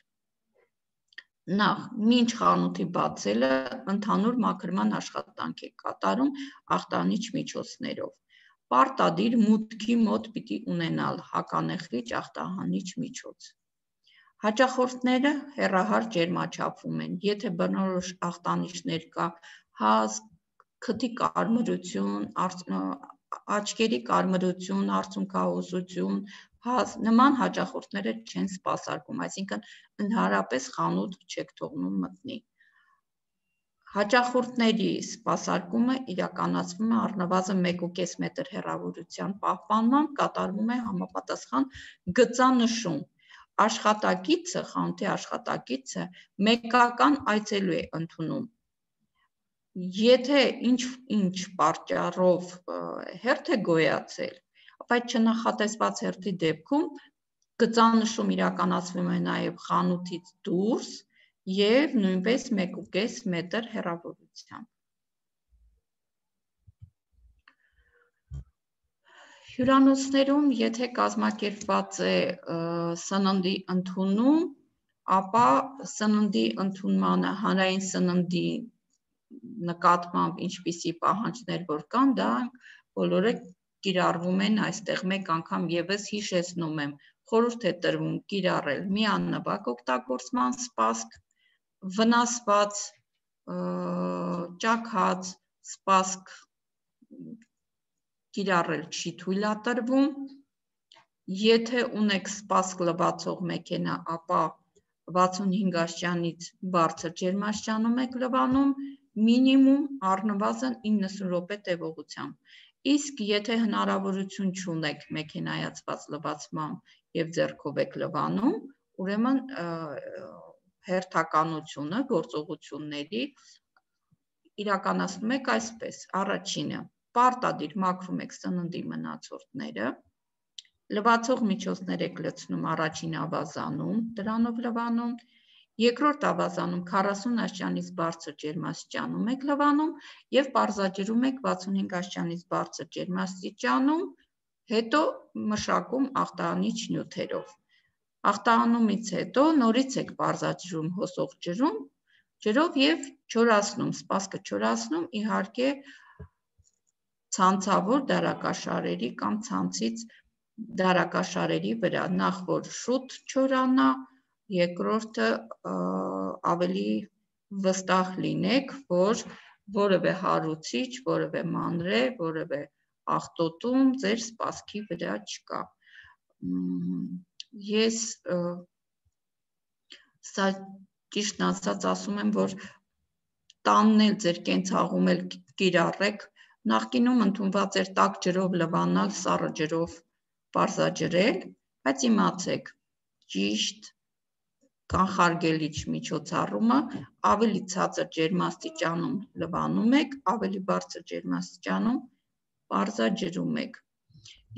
Speaker 3: Նախ, մինչ խանութի բացելը ընդհանուր մաքրման աշխատանք է կատարում ախտանիչ միջոցներով։ Պարտադիր մուտքի մոտ պիտի ունենալ հականեխրիչ ախտահանիչ միջոց։ Հաճախորդները հեռահար ջերմաչափում են, եթե բնորոշ ախտանիշներ կա, հազ, քթի կարմրություն, աչքերի կարմրություն, արցունքահոսություն, հազ, նման հաճախորդները չեն սպասարկում, այսինքն ընդհանրապես խանութ չեք թողնում մտնի։ Հաճախորդների սպասարկումը իրականացվում է առնվազն 1.5 մետր հեռավորության պահպանմամբ, կատարվում է համապատասխան գծանշում։ Աշխատակիցը, խանութի աշխատակիցը մեկական այցելու է ընդունում։ Եթե ինչ պատճառով հերթ է գոյացել, ապա այդ չնախատեսված հերթի դեպքում գծանշում իրականացվում է նաև խանութից դուրս և նույնպես 1.5 մետր հեռավորությամբ։ Հյուրանոցներում, եթե կազմակերպված է սննդի ընդունում, ապա սննդի ընդունմանը հանրային սննդի նկատմամբ ինչպիսի պահանջներ որ կան, դա բոլորը կիրառվում են այստեղ։ Մեկ անգամ եւս հիշեցնում եմ, խորհուրդ է տրվում կիրառել միանվագ օգտագործման սպասք, վնասված, ճաքած սպասք կիրառել չի թույլատրվում։ Եթե ունեք սպասք լվացող մեքենա, ապա 65 աստիճանից բարձր ջերմաստիճանում եք լվանում, մինիմում առնվազն 90 րոպե տևողությամբ։ Իսկ եթե հնարավորություն չունեք մեքենայացված լվացմամբ եւ ձեռքով եք լվանում, ուրեմն հերթականությունը գործողությունների իրականացնում եք այսպես. առաջինը, պարտադիր մաքրում եք սննդի մնացորդները, լվացող միջոցներ եք լցնում առաջին ավազանում, դրանով լվանում, երկրորդ ավազանում 40 աստիճանից բարձր ջերմաստիճանում եք լվանում եւ պարզաջրում եք 65 աստիճանից բարձր ջերմաստիճանում, հետո մշակում ախտահանիչ նյութերով։ Ախտահանումից հետո նորից եք պարզաջրում հոսող ջրով եւ չորացնում, սպասքը չորացնում, իհարկե ցանցավոր դարակաշարերի կամ ցանցից դարակաշարերի վրա, նախ որ շուտ չորանա, երկրորդը ավելի վստահ լինեք, որ որևէ հարուցիչ, որևէ մանրե, որևէ աղտոտում ձեր սպասքի վրա չկա։ Ես սա ճիշտն ասած ասում եմ, որ տանն էլ ձեր կենցաղում էլ կիրառեք, նախկինում ընդունված էր տաք ջրով լվանալ, սառը ջրով պարզաջրել, բայց իմացեք, ճիշտ կանխարգելիչ միջոցառումը ավելի ցածր ջերմաստիճանում լվանում եք, ավելի բարձր ջերմաստիճանում պարզաջրում եք։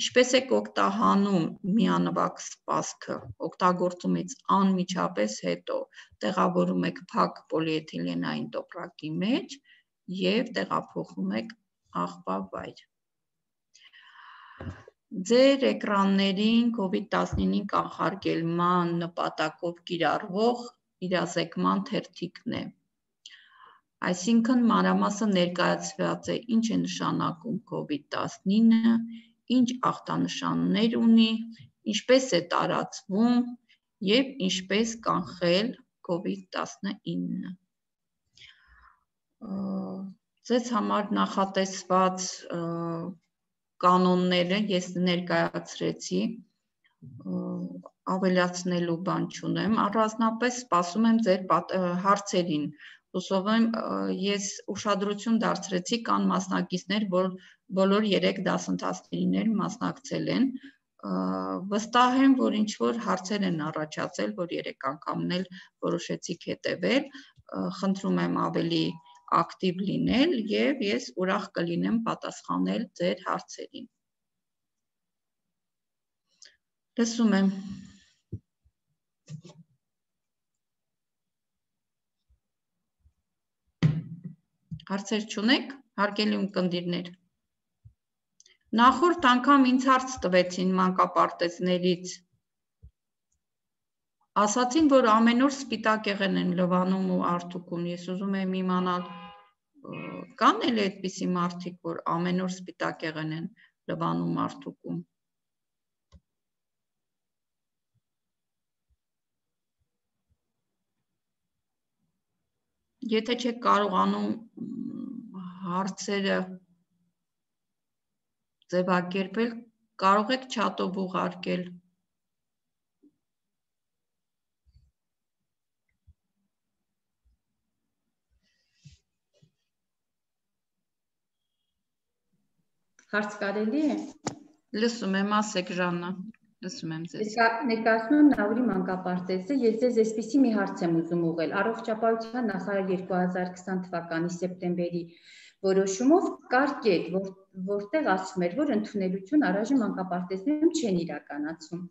Speaker 3: Ինչպես եք օգտահանում միանվագ սպասքը, օգտագործումից անմիջապես հետո տեղավորում եք փակ պոլիէթիլենային տոպրակի մեջ և տեղափոխում եք աղբա վայր։ Ձեր էկրաններին COVID-19-ի կանխարգելման նպատակով կիրառվող իրազեկման թերթիկն է։ Այսինքն մանրամասն ներկայացված է ինչ է նշանակում COVID-19, ինչ ախտանշաններ ունի, ինչպես է տարածվում և ինչպես կանխել COVID-19։ Ձեզ համար նախատեսված կանոնները ես ներկայացրեցի, ավելացնելու բան չունեմ, առանձնապես սպասում եմ ձեր հարցերին, հուսով եմ ես ուշադրություն դարձրեցի, կան մասնակիցներ, որ բոլոր 3 դասընթացներին մասնակցել են, վստահ եմ, որ ինչ-որ հարցեր են առաջացել, որ 3 անգամն էլ որոշեցիք հետևել, խնդրում եմ ավելի ակտիվ լինել եւ ես ուրախ կլինեմ պատասխանել ձեր հարցերին։ Լսում եմ։ Հարցեր չունեք, հարգելի ունկնդիրներ։ Նախորդ անգամ ինձ հարց տվեցին մանկապարտեզներից։ Ասացին, որ ամեն օր սպիտակ եղեն են լվանում ու արթուքում։ Ես ուզում եմ իմանալ, կան էլ այդպիսի մարդիկ, որ ամեն օր սպիտակ եղեն են լվանում արթուքում։ Եթե չեք կարողանում հարցերը ձևակերպել, կարող եք չաթով ուղարկել։
Speaker 2: Հարց կարելի է։
Speaker 3: Լսում եմ, ասեք Ժաննա, լսում եմ ձեզ։
Speaker 2: Ներկայացնում եմ Նաուրի մանկապարտեզը, ես ձեզ այսպիսի մի հարց եմ ուզում ուղղել։ Առողջապահության նախարար 2020 թվականի սեպտեմբերի որոշումով կար կետ, որտեղ ասում էր, որ ընդունելություն առայժմ մանկապարտեզներում չեն իրականացում։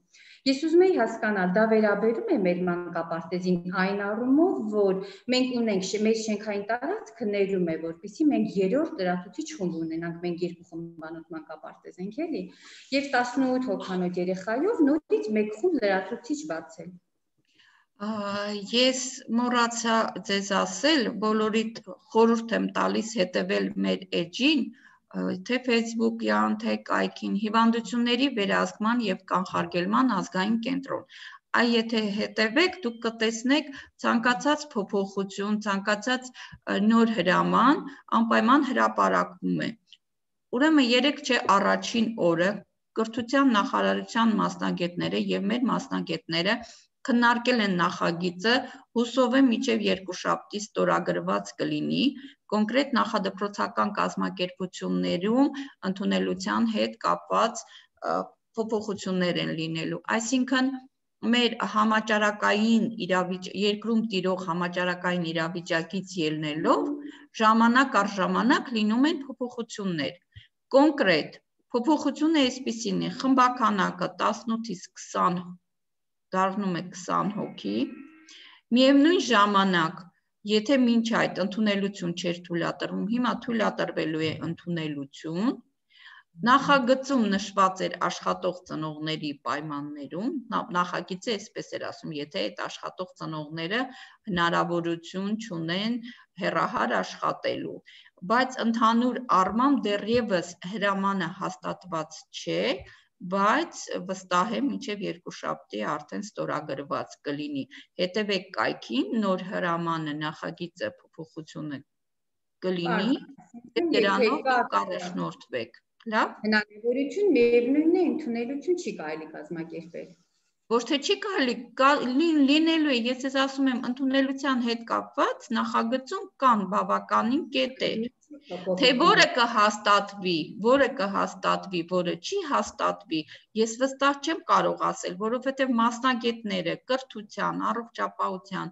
Speaker 2: Ես ուզում եի հասկանալ, դա վերաբերում է մեր մանկապարտեզին այն առումով, որ մենք ունենք մեր շենքային տարածքը ներում է, որպեսզի մենք երրորդ լրացուցիչ խումբ ունենանք, մենք երկու խմբանոց մանկապարտեզ ենք, էլի, եւ 18 հոգանոց երեխայով նորից մեկ խումբ լրացուցիչ բացել։
Speaker 3: Ես մոռացա ձեզ ասել, բոլորիդ խորհուրդ եմ տալիս հետևել մեր էջին, թե Facebook-յան, թե կայքին, հիվանդությունների վերահսկման եւ կանխարգելման ազգային կենտրոն։ Այ եթե հետևեք, դուք կտեսնեք ցանկացած փոփոխություն, ցանկացած նոր հրաման, անպայման հրապարակվում է։ Ուրեմն երեք չէ առաջին օրը կրթության նախարարության մասնագետները եւ մեր մասնագետները քննարկել են նախագիծը, հուսով եմ մինչև երկուշաբթի ստորագրված կլինի, կոնկրետ նախադպրոցական կազմակերպություններում ընդունելության հետ կապված փոփոխություններ են լինելու։ Այսինքն մեր համաճարակային երկրում տիրող համաճարակային իրավիճակից ելնելով ժամանակ առ ժամանակ լինում են փոփոխություններ։ Կոնկրետ փոփոխությունը այսպիսին է, խմբականակը 18-ից 20 դառնում է 20 հոգի, միևնույն ժամանակ, եթե մինչ այդ ընդունելություն չէր թույլատրվում, հիմա թույլատրվելու է ընդունելություն, նախագծում նշված էր աշխատող ծնողների պայմաններում, նախագիծը այսպես էր ասում, եթե այդ աշխատող ծնողները հնարավորություն չունեն հեռահար աշխատելու, բայց ընդհանուր առմամբ դեռևս հրամանը հաստատված չէ, բայց վստահ եմ մինչև երկուշաբթի արդեն ստորագրված կլինի։ Հետևեք կայքին, նոր հրամանը նախագիծը փոփոխությունը կլինի, դրանով կառաջնորդվեք։ Լավ։
Speaker 2: Հնարավորություն միևնույնն է, ընդունելություն չի կարելի կազմակերպել։
Speaker 3: Ոչ թե չի կարելի, լինելու է, ես ես ասում եմ, ընդունելության հետ կապված նախագծում կան բավականին կետեր, թե որը կհաստատվի, որը չի հաստատվի, ես վստահ չեմ կարող ասել, որովհետև մասնագետները կրթության, առողջապահության,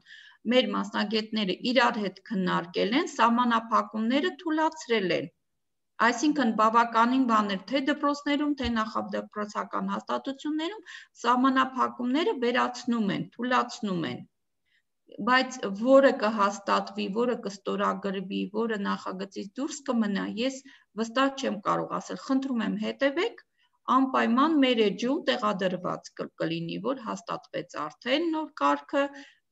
Speaker 3: մեր մասնագետները իրար հետ քննարկել են, սահմանափակումները թույլատրել են։ Այսինքն բավականին բաներ թե դպրոցներում, թե նախադպրոցական հաստատություններում սահմանափակումները վերացնում են, թույլատրում են, բայց որը կհաստատվի, որը կստորագրվի, որը նախագծից դուրս կմնա, ես վստահ չեմ կարող ասել, խնդրում եմ հետևեք, անպայման մեր էջում տեղադրված կլինի, որ հաստատվեց արդեն նոր կարգը,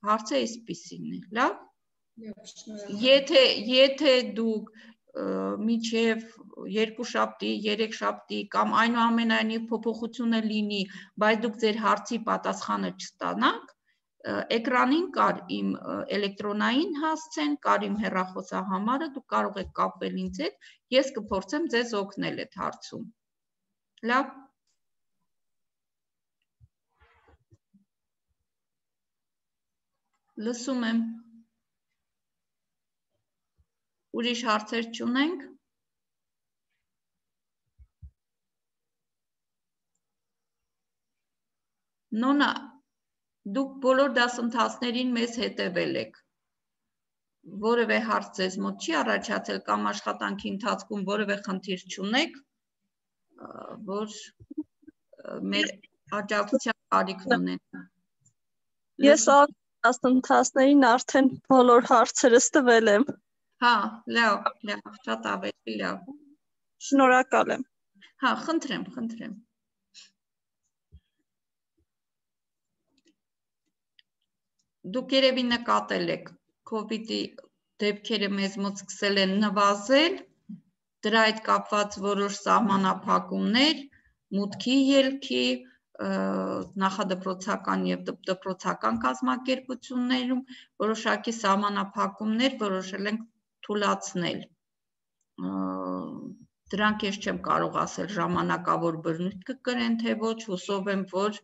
Speaker 3: հարցը այսպիսին է, լավ։ Եթե դուք մինչև երկուշաբթի, երեքշաբթի կամ այնուամենայնիվ փոփոխությունը լինի, բայց դուք ձեր հարցի պատասխանը չստանաք, էկրանին կար իմ էլեկտրոնային հասցեն, կար իմ հեռախոսահամարը, դուք կարող եք կապվել ինձ հետ, ես կփորձեմ ձեզ օգնել այդ հարցում։ Լավ։ Լսում եմ։ Ուրիշ հարցեր չունենք։ Նոնա, դուք բոլոր դասընթացներին մեզ հետևել եք։ որևէ հարց ձեզ մոտ չի առաջացել կամ աշխատանքի ընթացքում որևէ խնդիր չունեք, որ մեր աջակցության կարիքն ունեն։
Speaker 4: Ես դասընթացներին արդեն բոլոր հարցերս տվել եմ։
Speaker 3: Հա, լավ, շատ ավելի լավ։
Speaker 4: Շնորհակալ եմ։
Speaker 3: Հա, խնդրեմ։ Դուք երևի նկատել եք, COVID-ի դեպքերը մեզ մոտ սկսել են նվազել, դրա հետ կապված որոշ սահմանափակումներ, մուտքի ելքի, նախադպրոցական եւ դպրոցական կազմակերպություններում որոշակի սահմանափակումներ որոշել ենք թույլատրել։ Դրանք ես չեմ կարող ասել ժամանակավոր բռնույթ կկրեն թե ոչ, հուսով եմ, որ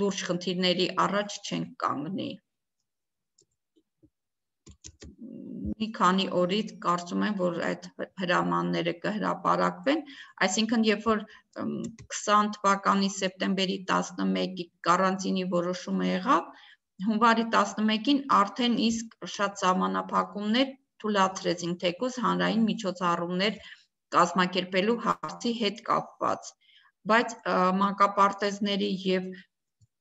Speaker 3: լուրջ խնդիրների առաջ չենք կանգնի։ Մի քանի օրից կարծում եմ, որ այդ հրամանները կհրապարակվեն, այսինքն երբ որ 20 թվականի սեպտեմբերի 11-ի կարանտինի որոշումը եղավ, հունվարի 11-ին արդեն իսկ շատ սահմանափակումներ թույլատրեցին, թեկուզ հանրային միջոցառումներ կազմակերպելու հարցի հետ կապված, բայց մանկապարտեզների եւ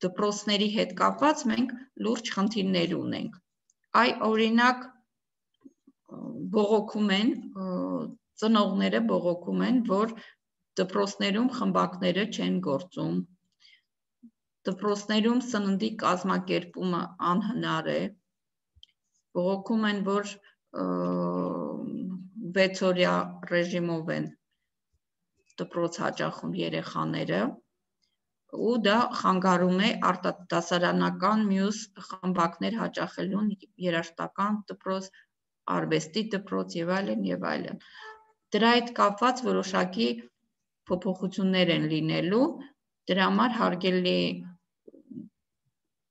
Speaker 3: դպրոցների հետ կապված մենք լուրջ խնդիրներ ունենք։ Այ օրինակ բողոքում են, ծնողները բողոքում են, որ դպրոցներում խմբակները չեն գործում, դպրոցներում սննդի կազմակերպումը անհնար է, բողոքում են, որ 6-օրյա ռեժիմով են դպրոց հաճախում երեխաները, ու դա խանգարում է արտադասարանական մյուս խմբակներ հաճախելուն, երաժշտական դպրոց, արվեստի դպրոց եւ այլն։ Դրա հետ կապված որոշակի փոփոխություններ են լինելու, դրա համար հարգելի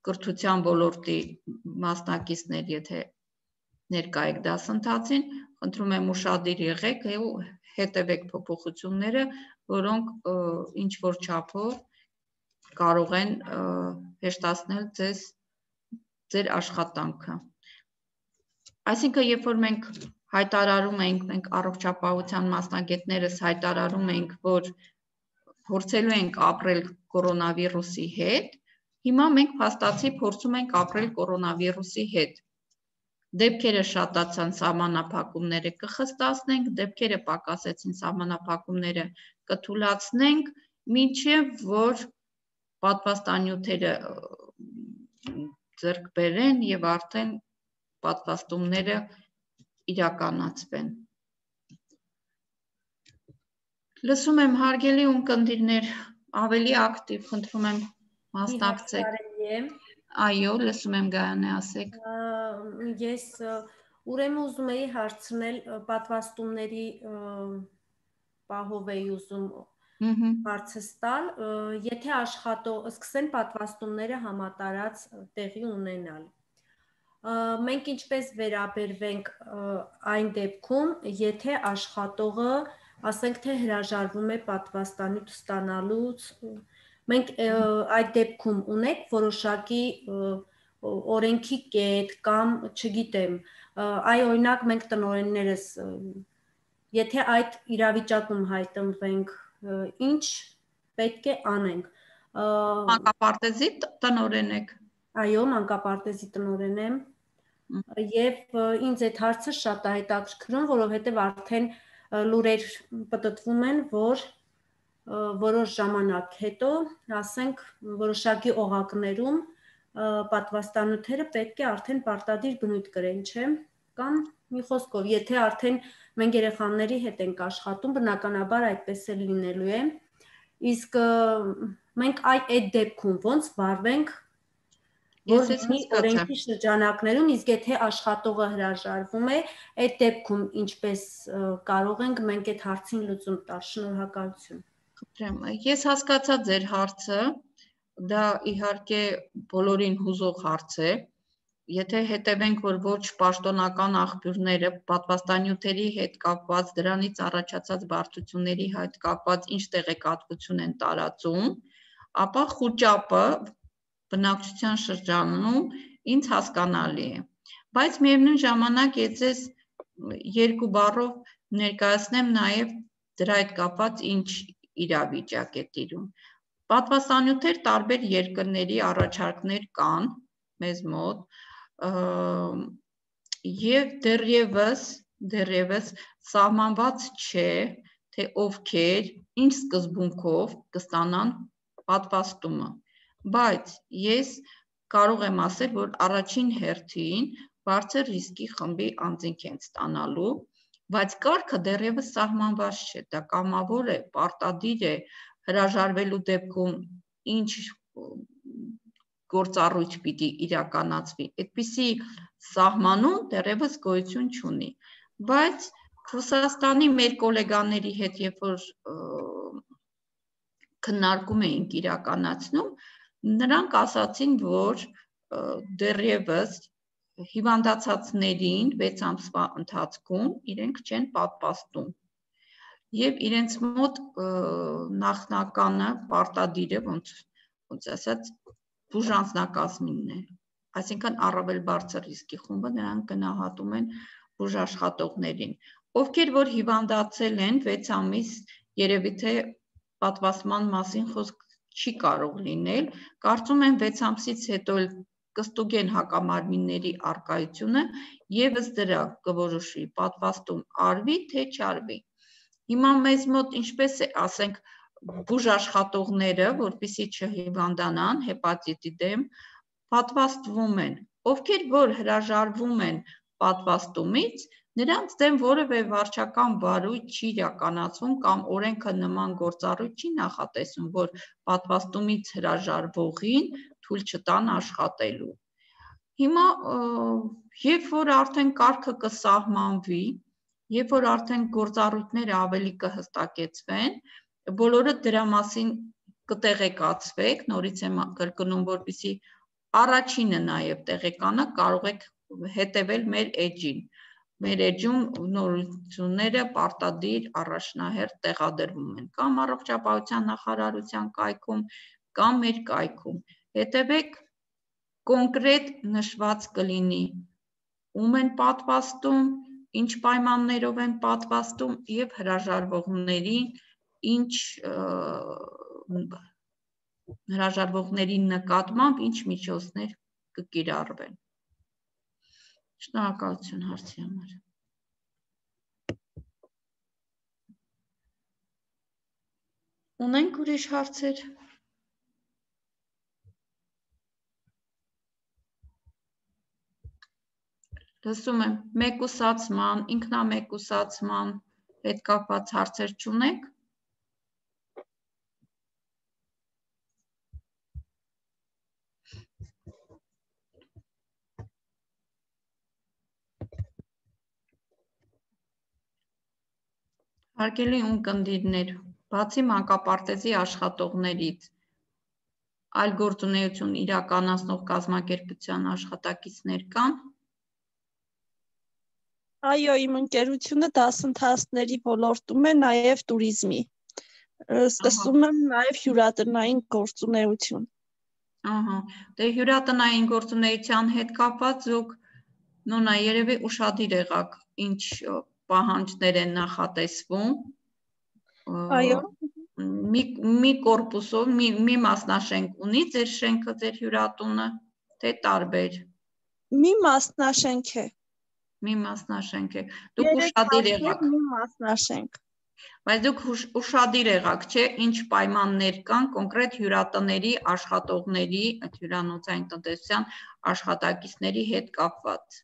Speaker 3: կրթության ոլորտի մասնակիցներ, եթե ներկա եք դասընթացին, խնդրում եմ ուշադիր եղեք ու հետևեք փոփոխությունները, որոնք ինչ որ չափով կարող են հեշտացնել ձեր աշխատանքը։ Այսինքն, երբ որ մենք հայտարարում ենք, մենք առողջապահության մասնագետներս հայտարարում ենք, որ փորձելու ենք ապրել կորոնավիրուսի հետ, հիմա մենք փաստացի փորձում ենք ապրել կորոնավիրուսի հետ։ Դեպքերը շատացան, սահմանափակումները կխստացնենք, դեպքերը պակասեցին, սահմանափակումները կթույլատրենք, մինչև որ պատվաստանյութերը ձեռք բերեն եւ արդեն պատվաստումները իրականացվեն։ Լսում եմ, հարգելի ունկնդիրներ, ավելի ակտիվ, խնդրում եմ մասնակցեք։ Այո, լսում եմ, Գայանե, ասեք։
Speaker 5: Ես ուրեմն ուզում էի հարցնել պատվաստումների պահով էի ուզում հարցս տալ, եթե սկսեն պատվաստումները համատարած տեղի ունենալ։ Մենք ինչպես վերաբերվենք այն դեպքում, եթե աշխատողը, ասենք թե հրաժարվում է պատվաստանյութ ստանալուց, մենք այդ դեպքում ունենք որոշակի օրենքի կետ կամ չգիտեմ, այ օրինակ մենք տնօրեններս, եթե այդ իրավիճակում հայտնվենք, ինչ պետք է անենք։
Speaker 3: Մանկապարտեզի տնօրեն եք։
Speaker 5: Այո, մանկապարտեզի տնօրեն եմ։ Եվ ինձ այդ հարցը շատ է հետաքրքրում, որովհետև արդեն լուրեր պտտվում են, որ որոշ ժամանակ հետո, ասենք, որոշակի օղակներում պատվաստանյութերը պետք է արդեն պարտադիր բնույթ կրեն, չէ՞։ Կամ մի խոսքով, եթե արդեն մենք երեխաների հետ ենք աշխատում, բնականաբար այդպես էլ լինելու է։ Իսկ մենք այդ դեպքում ոնց վարվենք, որ օրենքի շրջանակներում, իսկ եթե աշխատողը հրաժարվում է, այդ դեպքում ինչպես կարող ենք մենք այդ հարցին լուծում տալ։ Շնորհակալություն։
Speaker 3: Խնդրեմ, ես հասկացա ձեր հարցը, դա իհարկե բոլորին հուզող հարց է։ Եթե հետևենք, որ ոչ պաշտոնական աղբյուրները պատվաստանյութերի հետ կապված, դրանից առաջացած բարդությունների հետ կապված ինչ տեղեկատվություն են տարածում, ապա խուճապը բնակչության շրջանում ինձ հասկանալի է, բայց միևնույն ժամանակ ես երկու բառով ներկայացնեմ նաև դրա հետ կապված ինչ իրավիճակ է տիրում։ Պատվաստանյութեր տարբեր երկրների առաջարկներ կան մեզ մոտ եւ դեռևս սահմանված չէ, թե ովքեր ինչ սկզբունքով կստանան պատվաստումը, բայց ես կարող եմ ասել, որ առաջին հերթին բարձր ռիսկի խմբի անձինք են ստանալու, բայց կարգը դեռևս սահմանված չէ, դա կամավոր է, պարտադիր է, հրաժարվելու դեպքում ինչ գործառույթ պիտի իրականացվի, այդպիսի սահմանում դեռևս գոյություն չունի, բայց Ռուսաստանի մեր գոլեգաների հետ, երբ որ քննարկում էինք իրականացնում, նրանք ասացին, որ դեռևս հիվանդացածներին 6 ամսվա ընթացքում իրենք չեն պատվաստում եւ իրենց մոտ նախնականը պարտադիր է ոնց ասած բուժանձնակազմինն է, այսինքն առավել բարձր ռիսկի խումբը նրանք գնահատում են բուժաշխատողներին, ովքեր որ հիվանդացել են 6 ամիս, երևի թե պատվաստման մասին խոսք չի կարող լինել, կարծում եմ 6 ամսից հետո կստուգեն հակամարմինների առկայությունը եւ ըստ դրա կորոշվի պատվաստում արվի թե չարվի։ Հիմա մեզ մոտ ինչպես է, ասենք, բուժաշխատողները, որպեսզի չհիվանդանան հեպատիտի դեմ, պատվաստվում են, ովքեր որ հրաժարվում են պատվաստումից, նրանց դեմ որևէ վարչական բարույթ չի իրականացվում կամ օրենքը նման գործառույթ չի նախատեսում, որ պատվաստումից հրաժարվողին թույլ չտան աշխատելու։ Հիմա երբ որ արդեն կարգը կսահմանվի, երբ որ արդեն գործառույթները ավելի կհստակեցվեն, բոլորը դրա մասին կտեղեկացվեք, նորից եմ կրկնում, որպեսզի առաջինը նաև տեղեկանը կարող եք հետևել մեր էջին։ Մեր էջում նորությունները պարտադիր առաջնահերթ տեղադրվում են կամ առողջապահության նախարարության կայքում, կամ մեր կայքում։ Հետևեք, կոնկրետ նշված կլինի, ում են պատվաստում, ինչ պայմաններով են պատվաստում եւ հրաժարվողների նկատմամբ ինչ միջոցներ կկիրառվեն։ Շնորհակալություն հարցի համար։ Ունենք ուրիշ հարցեր։ Լսում եմ, մեկուսացման, ինքնամեկուսացման հետ կապված հարցեր չունեք։ Հարգելի ունկնդիրներ, բացի մանկապարտեզի աշխատողներից, այլ գործունեություն իրականացնող կազմակերպության աշխատակիցներ կան։
Speaker 4: Այո, իմ ընկերությունը դասընթացների ոլորտում է, նաև туриզմի։ Սկսում եմ նաև հյուրատնային գործունեություն։
Speaker 3: Ահա, դե հյուրատնային գործունեության հետ կապված դուք նույնա երևի ուշադիր եղաք, ինչ պահանջներ են նախատեսվում։
Speaker 4: Այո։
Speaker 3: Մի կորպուսով, մի մասնաշենք ունի ձեր շենքը, ձեր հյուրատունը, թե տարբեր։
Speaker 4: Մի մասնաշենք է։
Speaker 3: Մի մասնաշենք է։ Դուք ուշադիր եղաք։
Speaker 4: Մի մասնաշենք։
Speaker 3: Բայց դուք ուշադիր եղաք, չէ, ինչ պայմաններ կան կոնկրետ հյուրատների աշխատողների, հյուրանոցային տնտեսության աշխատակիցների հետ կապված։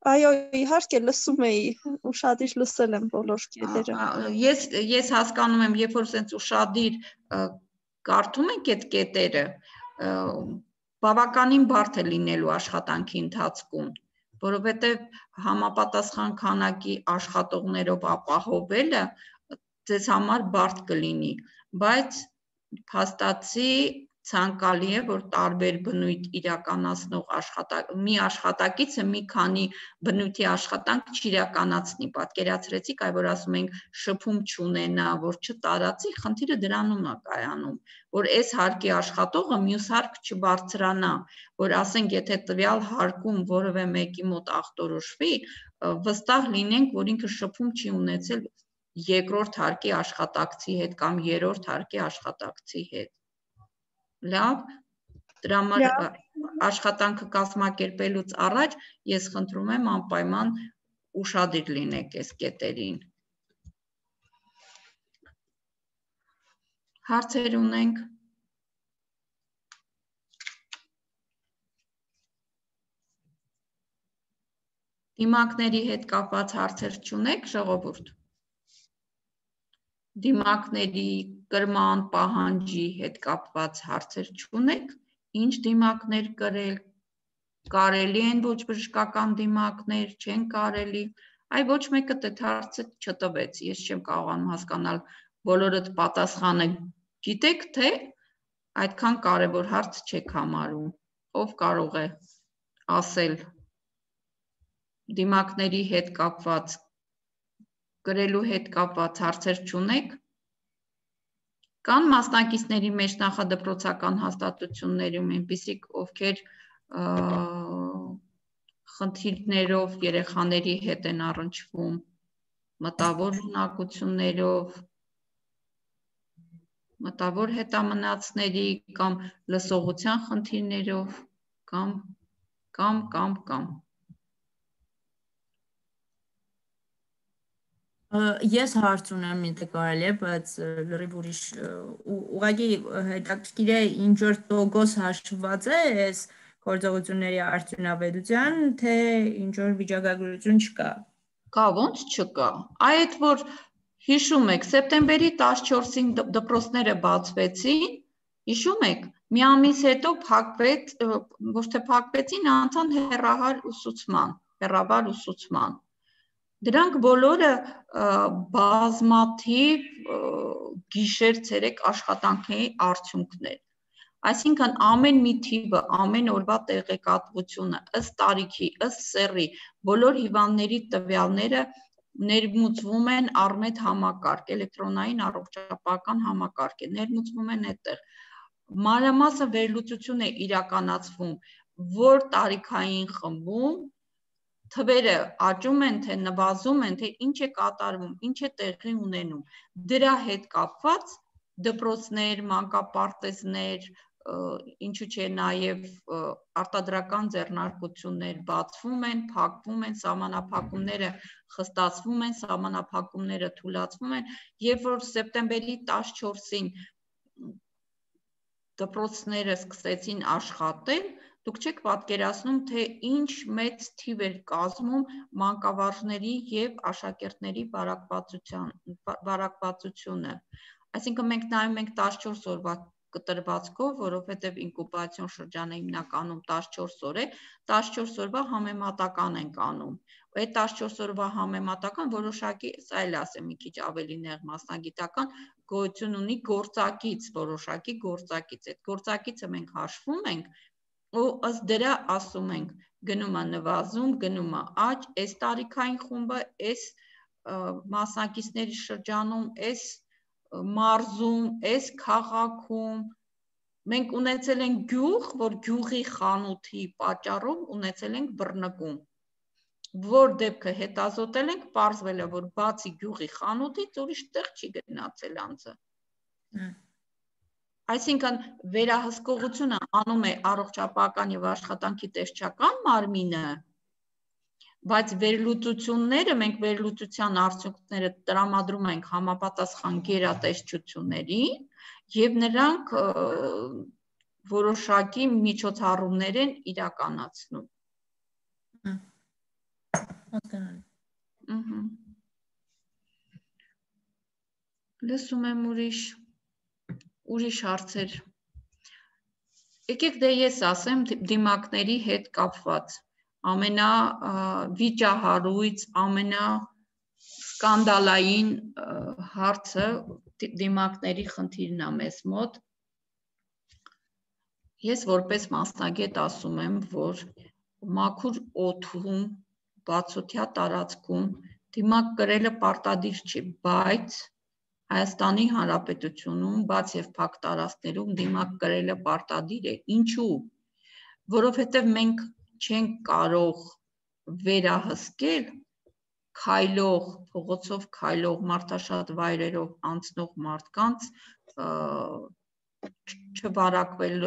Speaker 4: Այո, իհարկե լսում էի, ուշադիր լսել եմ բոլոր կետերը։
Speaker 3: Ես հասկանում եմ, երբ որ ասենց ուշադիր կարդում եք այդ կետերը, բավականին բարդ է լինելու աշխատանքի ընթացքում, որովհետև համապատասխան քանակի աշխատողներով ապահովելը ձեզ համար բարդ կլինի, բայց փաստացի ցանկալի է, որ տարբեր բնույթ իրականացնող մի աշխատակիցը մի քանի բնույթի աշխատանք չիրականացնի։ Պատկերացրեցիք, այ որ ասում ենք շփում չունենա, որ չտարածի, խնդիրը դրանում է կայանում, որ այս հարկի աշխատողը մյուս հարկ չբարձրանա, որ ասենք, եթե տվյալ հարկում որևէ մեկի մոտ ախտորոշվի, վստահ լինենք, որ ինքը շփում չի ունեցել երկրորդ հարկի աշխատակցի հետ կամ երրորդ հարկի աշխատակցի հետ։ Լավ, դրա համար աշխատանքը կազմակերպելուց առաջ ես խնդրում եմ անպայման ուշադիր լինեք այս կետերին։ Հարցեր ունենք։ Դիմակների հետ կապված հարցեր չունեք, ժողովուրդ։ Դիմակների կրման պահանջի հետ կապված հարցեր չունեք, ինչ դիմակներ կրել, կարելի են ոչ բժշկական դիմակներ, չեն կարելի, այ ոչ մեկը այդ հարցը չտվեց, ես չեմ կարողանում հասկանալ, բոլորդ պատասխանը գիտեք, թե այդքան կարևոր հարց չեք համարում, ով կարող է ասել դիմակների հետ կապված գրելու հետ կապված հարցեր չունեք, կան մասնակիցների մեջ նախադպրոցական հաստատություններում այնպիսիք, ովքեր խնդիրներով երեխաների հետ են առնչվում, մտավոր ունակություններով, մտավոր հետամնացների կամ լսողության խնդիրներով, կամ
Speaker 6: Ես հարց ունեմ, եթե կարելի է, բայց լրիվ ուրիշ ուղղակի հետաքրքիր է ինչ որ տոկոս հաշվված է այս գործողությունների արդյունավետության, թե ինչ որ վիճակագրություն չկա։
Speaker 3: Կա, ոնց չկա։ Այդ որ հիշում եք, սեպտեմբերի 14-ին դպրոցները բացվեցին, հիշում եք, մի ամիս հետո փակվեց, ոչ թե փակվեցին, անցան հեռավար ուսուցման։ Դրանք բոլորը բազմաթիվ գիշեր-ցերեկ աշխատանքների արդյունքներ։ Այսինքն ամեն մի թիվը, ամեն օրվա տեղեկատվությունը, ըստ տարիքի, ըստ սեռի, բոլոր հիվանդների տվյալները ներմուծվում են առմետ համակարգ, էլեկտրոնային առողջապահական համակարգ է, ներմուծվում են այդտեղ։ Մանրամասը վերլուծություն է իրականացվում, որ տարիքային խմբում թվերը աճում են, թե նվազում են, թե ինչ է կատարվում, ինչ է տեղի ունենում։ Դրա հետ կապված դպրոցներ, մանկապարտեզներ, ինչու՞ չէ նաև արտադրական ձեռնարկություններ բացվում են, փակվում են, սահմանափակումները խստացվում են, սահմանափակումները թուլացվում են, երբ որ սեպտեմբերի 14-ին դպրոցները սկսեցին աշխատել, դուք չեք պատկերացնում, թե ինչ մեծ թիվ էր կազմում մանկավարժների և աշակերտների բարակվածությունը։ Այսինքն մենք նայում ենք 14 օրվա կտրվածքով, որովհետև ինկուբացիոն շրջանը հիմնականում 14 օր է, 14 օրվա համեմատական ենք անում։ Այդ 14 օրվա համեմատական որոշակի, այլ ասեմ մի քիչ ավելի նեղ մասնագիտական գոյություն ունի գործակից, որոշակի գործակից։ Այդ գործակիցը մենք հաշվում ենք ու ըստ դրա ասում ենք գնում է նվազում, գնում է աճ, այս տարիքային խումբը, այս մասնակիցների շրջանում, այս մարզում, այս քաղաքում մենք ունեցել ենք գյուղ, որ գյուղի խանութի պատճառով ունեցել ենք բռնկում, որ դեպքը հետազոտել ենք, պարզվել է, որ բացի գյուղի խանութից ուրիշ տեղ չի գնացել անձը։ Այսինքն վերահսկողությունը անում է առողջապահական եւ աշխատանքի տեսչական մարմինը, բայց վերլուծությունները, մենք վերլուծության արդյունքները տրամադրում ենք համապատասխան գերատեսչությունների եւ նրանք որոշակի միջոցառումներ են իրականացնում։
Speaker 6: Հասկանալի։
Speaker 3: Լսում եմ ուրիշ հարցեր։ Եկեք դե ես ասեմ դիմակների հետ կապված ամենավիճահարույց, ամենասկանդալային հարցը դիմակների խնդիրն է մեզ մոտ։ Ես որպես մասնագետ ասում եմ, որ մաքուր օդում, բացօթյա տարածքում դիմակ կրելը պարտադիր չի, բայց Հայաստանի Հանրապետությունում, բաց եւ փակ տարածքներում դիմակ կրելը պարտադիր է։ Ինչու՞։ Որովհետեւ մենք չենք կարող վերահսկել քայլող, փողոցով քայլող, մարդաշատ վայրերով անցնող մարդկանց չվարակվել,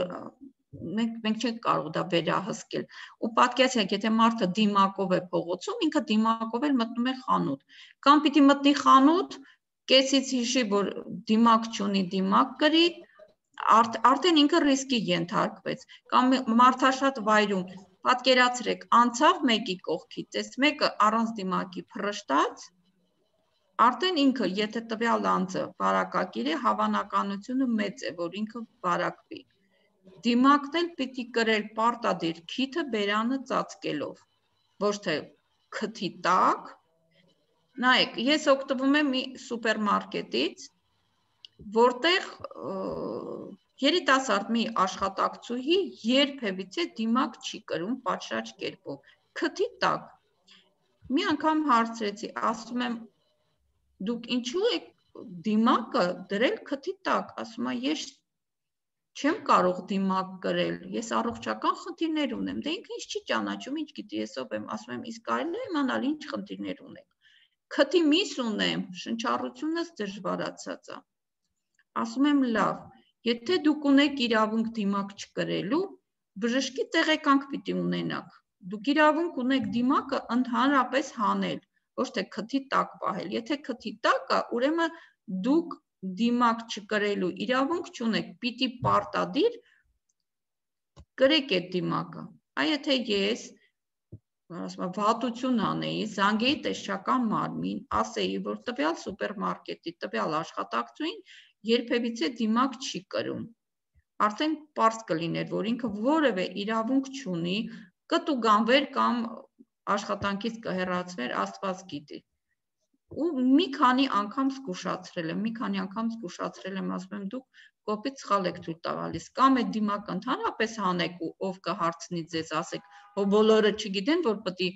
Speaker 3: մենք չենք կարող դա վերահսկել։ Ու պատկերացրեք, եթե մարդը դիմակով է փողոցում, ինքը դիմակով էլ մտնում է խանութ, կամ պիտի մտնի խանութ, կեսից հիշի, որ դիմակ չունի, դիմակ կրի, արդեն ինքը ռիսկի ենթարկվեց, կամ մարդաշատ վայրում, պատկերացրեք, անցավ մեկի կողքից, այս մեկը առանց դիմակի փռշտաց, արդեն ինքը, եթե տվյալ անձը վարակակիր է, հավանականությունը մեծ է, որ ինքը վարակվի։ Դիմակն էլ պիտի կրել պարտադիր քիթը բերանը ծածկելով, ոչ թե քթի տակ։ Նայեք, ես օգտվում եմ մի սուպերմարկետից, որտեղ երիտասարդ մի աշխատակցուհի երբևիցե դիմակ չի կրում պատշաճ կերպով, քթի տակ։ Մի անգամ հարցրեցի, ասում եմ, դուք ինչու եք դիմակը դրել քթի տակ, ասում է, ես չեմ կարող դիմակ կրել, ես առողջական խնդիրներ ունեմ, դե ինքը ինձ չի ճանաչում, ինչ գիտի, ես ով եմ, ասում եմ, իսկ կարելի է իմանալ ինչ խնդիրներ ունեք։ Քթի միս ունեմ, շնչառությունս դժվարացած է։ Ասում եմ, լավ, եթե դուք ունեք իրավունք դիմակ չկրելու, բժշկի տեղեկանք պիտի ունենաք։ Դուք իրավունք ունեք դիմակը ընդհանրապես հանել, ոչ թե քթի տակ պահել։ Եթե քթի տակ է, ուրեմն դուք դիմակ չկրելու իրավունք չունեք, պիտի պարտադիր կրեք այդ դիմակը։ Այ եթե ես վատություն անեի, զանգեի տեսչական մարմին, ասեի, որ տվյալ սուպերմարկետի տվյալ աշխատակցուին երբևիցե դիմակ չի կրում, արդեն պարզ կլիներ, որ ինքը որևէ իրավունք չունի, կտուգանվեր կամ աշխատանքից կհեռացվեր, Աստված գիտի։ Ու մի քանի անգամ զգուշացրել եմ, ասում եմ, դուք կոպիտ սխալ եք թույլ տալիս, կամ այդ դիմակը ընդհանրապես հանեք ու ով կհարցնի ձեզ, ասեք, հո բոլորը չգիտեն, որ պետք է,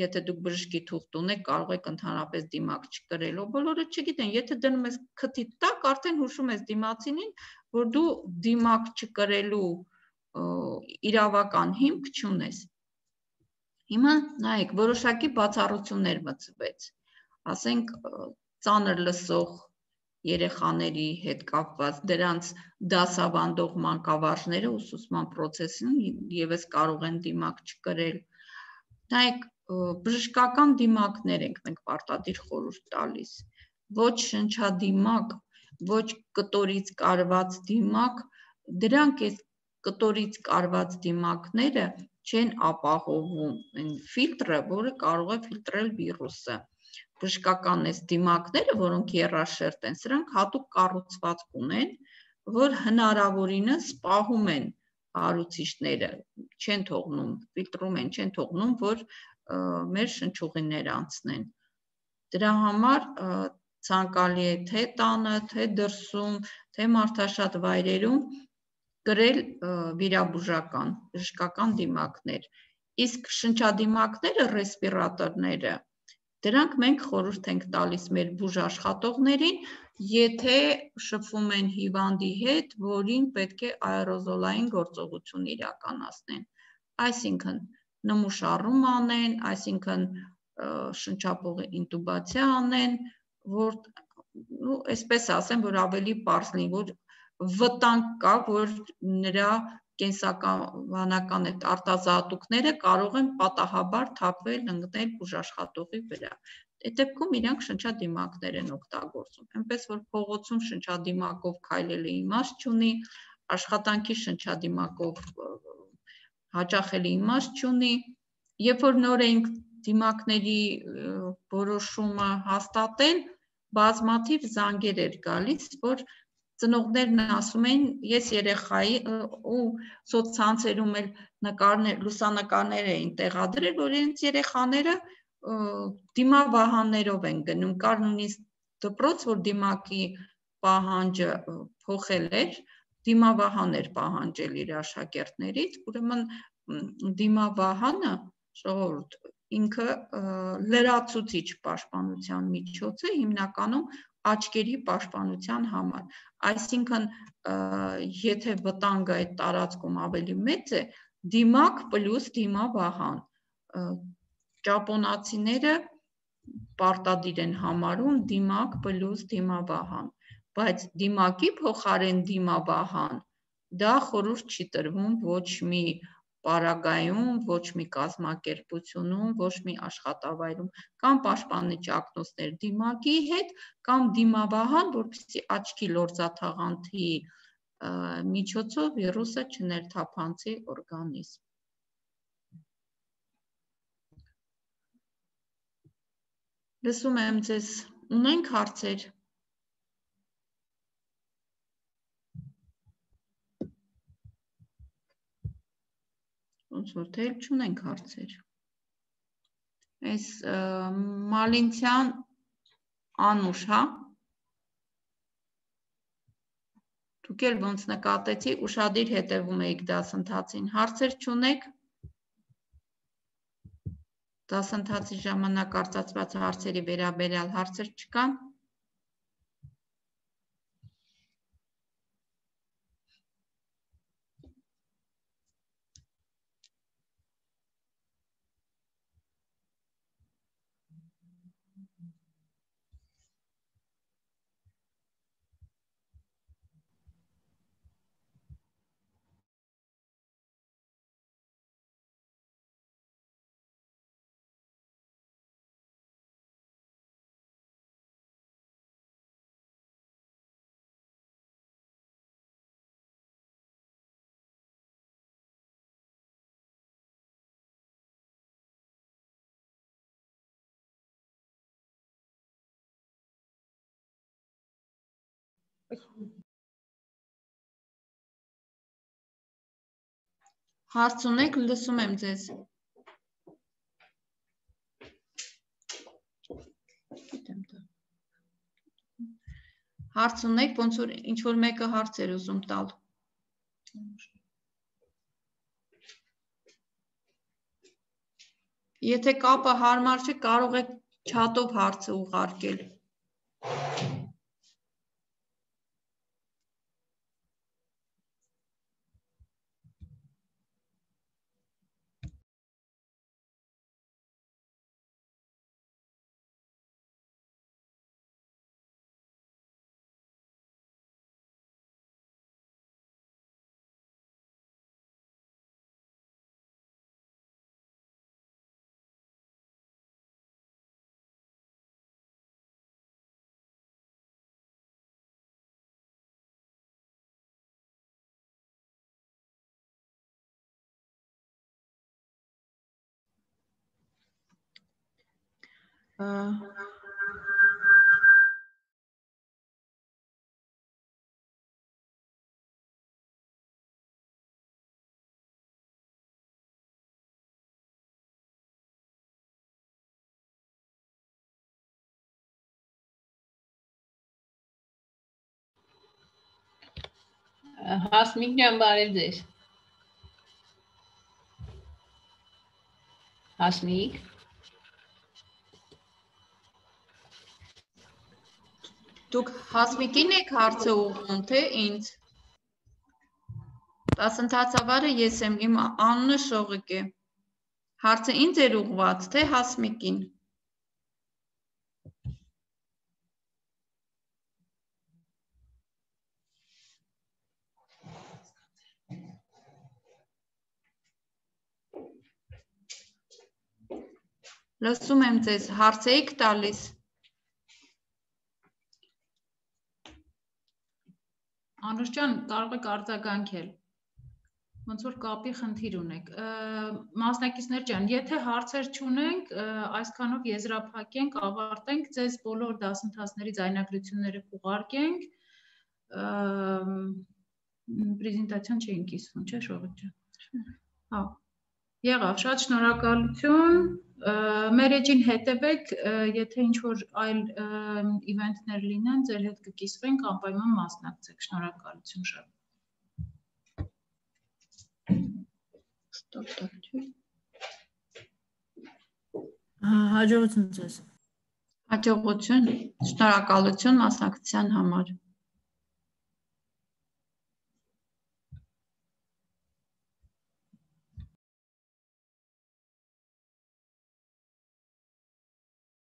Speaker 3: եթե դուք բժշկի թուղթ ունեք, կարող եք ընդհանրապես դիմակ չկրել, հո բոլորը չգիտեն, եթե դնում ես քթի տակ, արդեն հուշում ես դիմացինին, որ դու դիմակ չկրելու իրավական հիմք չունես։ Հիմա նայեք, որոշակի բացառություններ մտցվեց, ասենք ծանր լսող երեխաների հետ կապված, դրանց դասավանդող մանկավարժները ուսուցման process-ին եւս կարող են դիմակ չկրել։ Նայեք, բժշկական դիմակներ ենք մենք պարտադիր խորհուրդ տալիս, ոչ շնչադիմակ, ոչ կտորից կարված դիմակ, դրանք այս կտորից կարված դիմակները չեն ապահովում այն ֆիլտրը, որը կարող է ֆիլտրել վիրուսը։ Բժշկական այս դիմակները, որոնք եռաշերտ են, սրանք հատուկ կառուցվածք ունեն, որ հնարավորինս պահում են հարուցիչները, չեն թողնում, ֆիլտրում են, չեն թողնում, որ մեր շնչուղիները անցնեն։ Դրա համար ցանկալի է թե տանը, թե դրսում, թե մարդաշատ վայրերում կրել վիրաբուժական, բժշկական դիմակներ։ Իսկ շնչադիմակները, ռեսպիրատորները, դրանք մենք խորհուրդ ենք տալիս մեր բուժաշխատողներին, եթե շփվում են հիվանդի հետ, որին պետք է աերոզոլային գործողություն իրականացնեն։ Այսինքն նմուշառում անեն, այսինքն շնչապողի ինտուբացիա անեն, որ այսպես ասեմ, որ ավելի պարզ լինի, որ վտանգ կա, որ նրա կենսաբանական այդ արտազատուկները կարող են պատահաբար թափվել, ընկնել բուժաշխատողի վրա։ Այդ դեպքում իրանք շնչադիմակներ են օգտագործում։ Այնպես որ փողոցում շնչադիմակով քայլելը իմաստ չունի, աշխատանքի շնչադիմակով հաճախելի իմաստ չունի։ Երբ որ նոր ենք դիմակների որոշումը հաստատել, բազմաթիվ զանգեր էր գալիս, որ ծնողներն ասում են, ես երեխայի ու սոցցանցերում էլ լուսանկարներ էին տեղադրել, որ իրենց երեխաները դիմավահաններով են գնում, կար նույնիսկ դպրոց, որ դիմակի պահանջը փոխել էր, դիմավահան էր պահանջել իր աշակերտներից, ուրեմն դիմավահանը ժողովուրդ ինքը լրացուցիչ պաշտպանության միջոց է հիմնականում աչքերի պաշտպանության համար, այսինքն եթե վտանգը այդ տարածքում ավելի մեծ է, դիմակ պլյուս դիմավահան, ճապոնացիները պարտադիր են համարում դիմակ պլյուս դիմավահան, բայց դիմակի փոխարեն դիմավահան, դա խորհուրդ չի տրվում ոչ մի պարագայում, ոչ մի կազմակերպությունում, ոչ մի աշխատավայրում, կամ պաշտպանիչ ակնոցներ դիմակի հետ, կամ դիմավահան, որպեսզի աչքի լորձաթաղանթի միջոցով վիրուսը չներթափանցի օրգանիզմ։ Լսում եմ ձեզ, ունենք հարցեր։ Ոնց որ թե չունենք հարցեր։ Այս Մալինցյան Անուշ, հա։ Դուք էլ ոնց նկատեցի, ուշադիր հետևում եք դասընթացին, հարցեր չունեք։ Դասընթացի ժամանակ արծարծված հարցերի վերաբերյալ հարցեր չկան։ Հարց ունեք, լսում եմ ձեզ։ Հարց ունեք, ոնց որ ինչ-որ մեկը հարց էր ուզում տալ։ Եթե կապը հարմար չէ, կարող եք չաթով հարցը ուղարկել։
Speaker 7: Հասմիկ ջան, բարև ձեզ։ Հասմիկ։
Speaker 3: Դուք Հասմիկին եք հարցը ուղղում, թե ինձ։ Դասընթացավարը ես եմ, իմ անունը Շողիկ է։ Հարցը ինձ էր ուղղված, թե Հասմիկին։ Լսում եմ ձեզ, հարց եք տալիս։
Speaker 7: Անուշ ջան, կարող եք արձագանքել։ Ոնց որ կապի խնդիր ունեք։ Մասնակիցներ ջան, եթե հարցեր չունենք, այսքանով եզրափակենք, ավարտենք, ձեզ բոլոր դասընթացների ձայնագրությունները կուղարկենք։ Պրեզենտացիան չէին կիսվում, չէ՞ Շողիկ ջան։ Հա։ Եղավ, շատ շնորհակալություն։ Մեր էջին հետևեք, եթե ինչ-որ այլ իվենթներ լինեն, ձեր հետ կկիսվենք, անպայման մասնակցեք, շնորհակալություն շատ։
Speaker 6: Հաջողություն ձեզ։
Speaker 3: Հաջողություն, շնորհակալություն մասնակցության համար։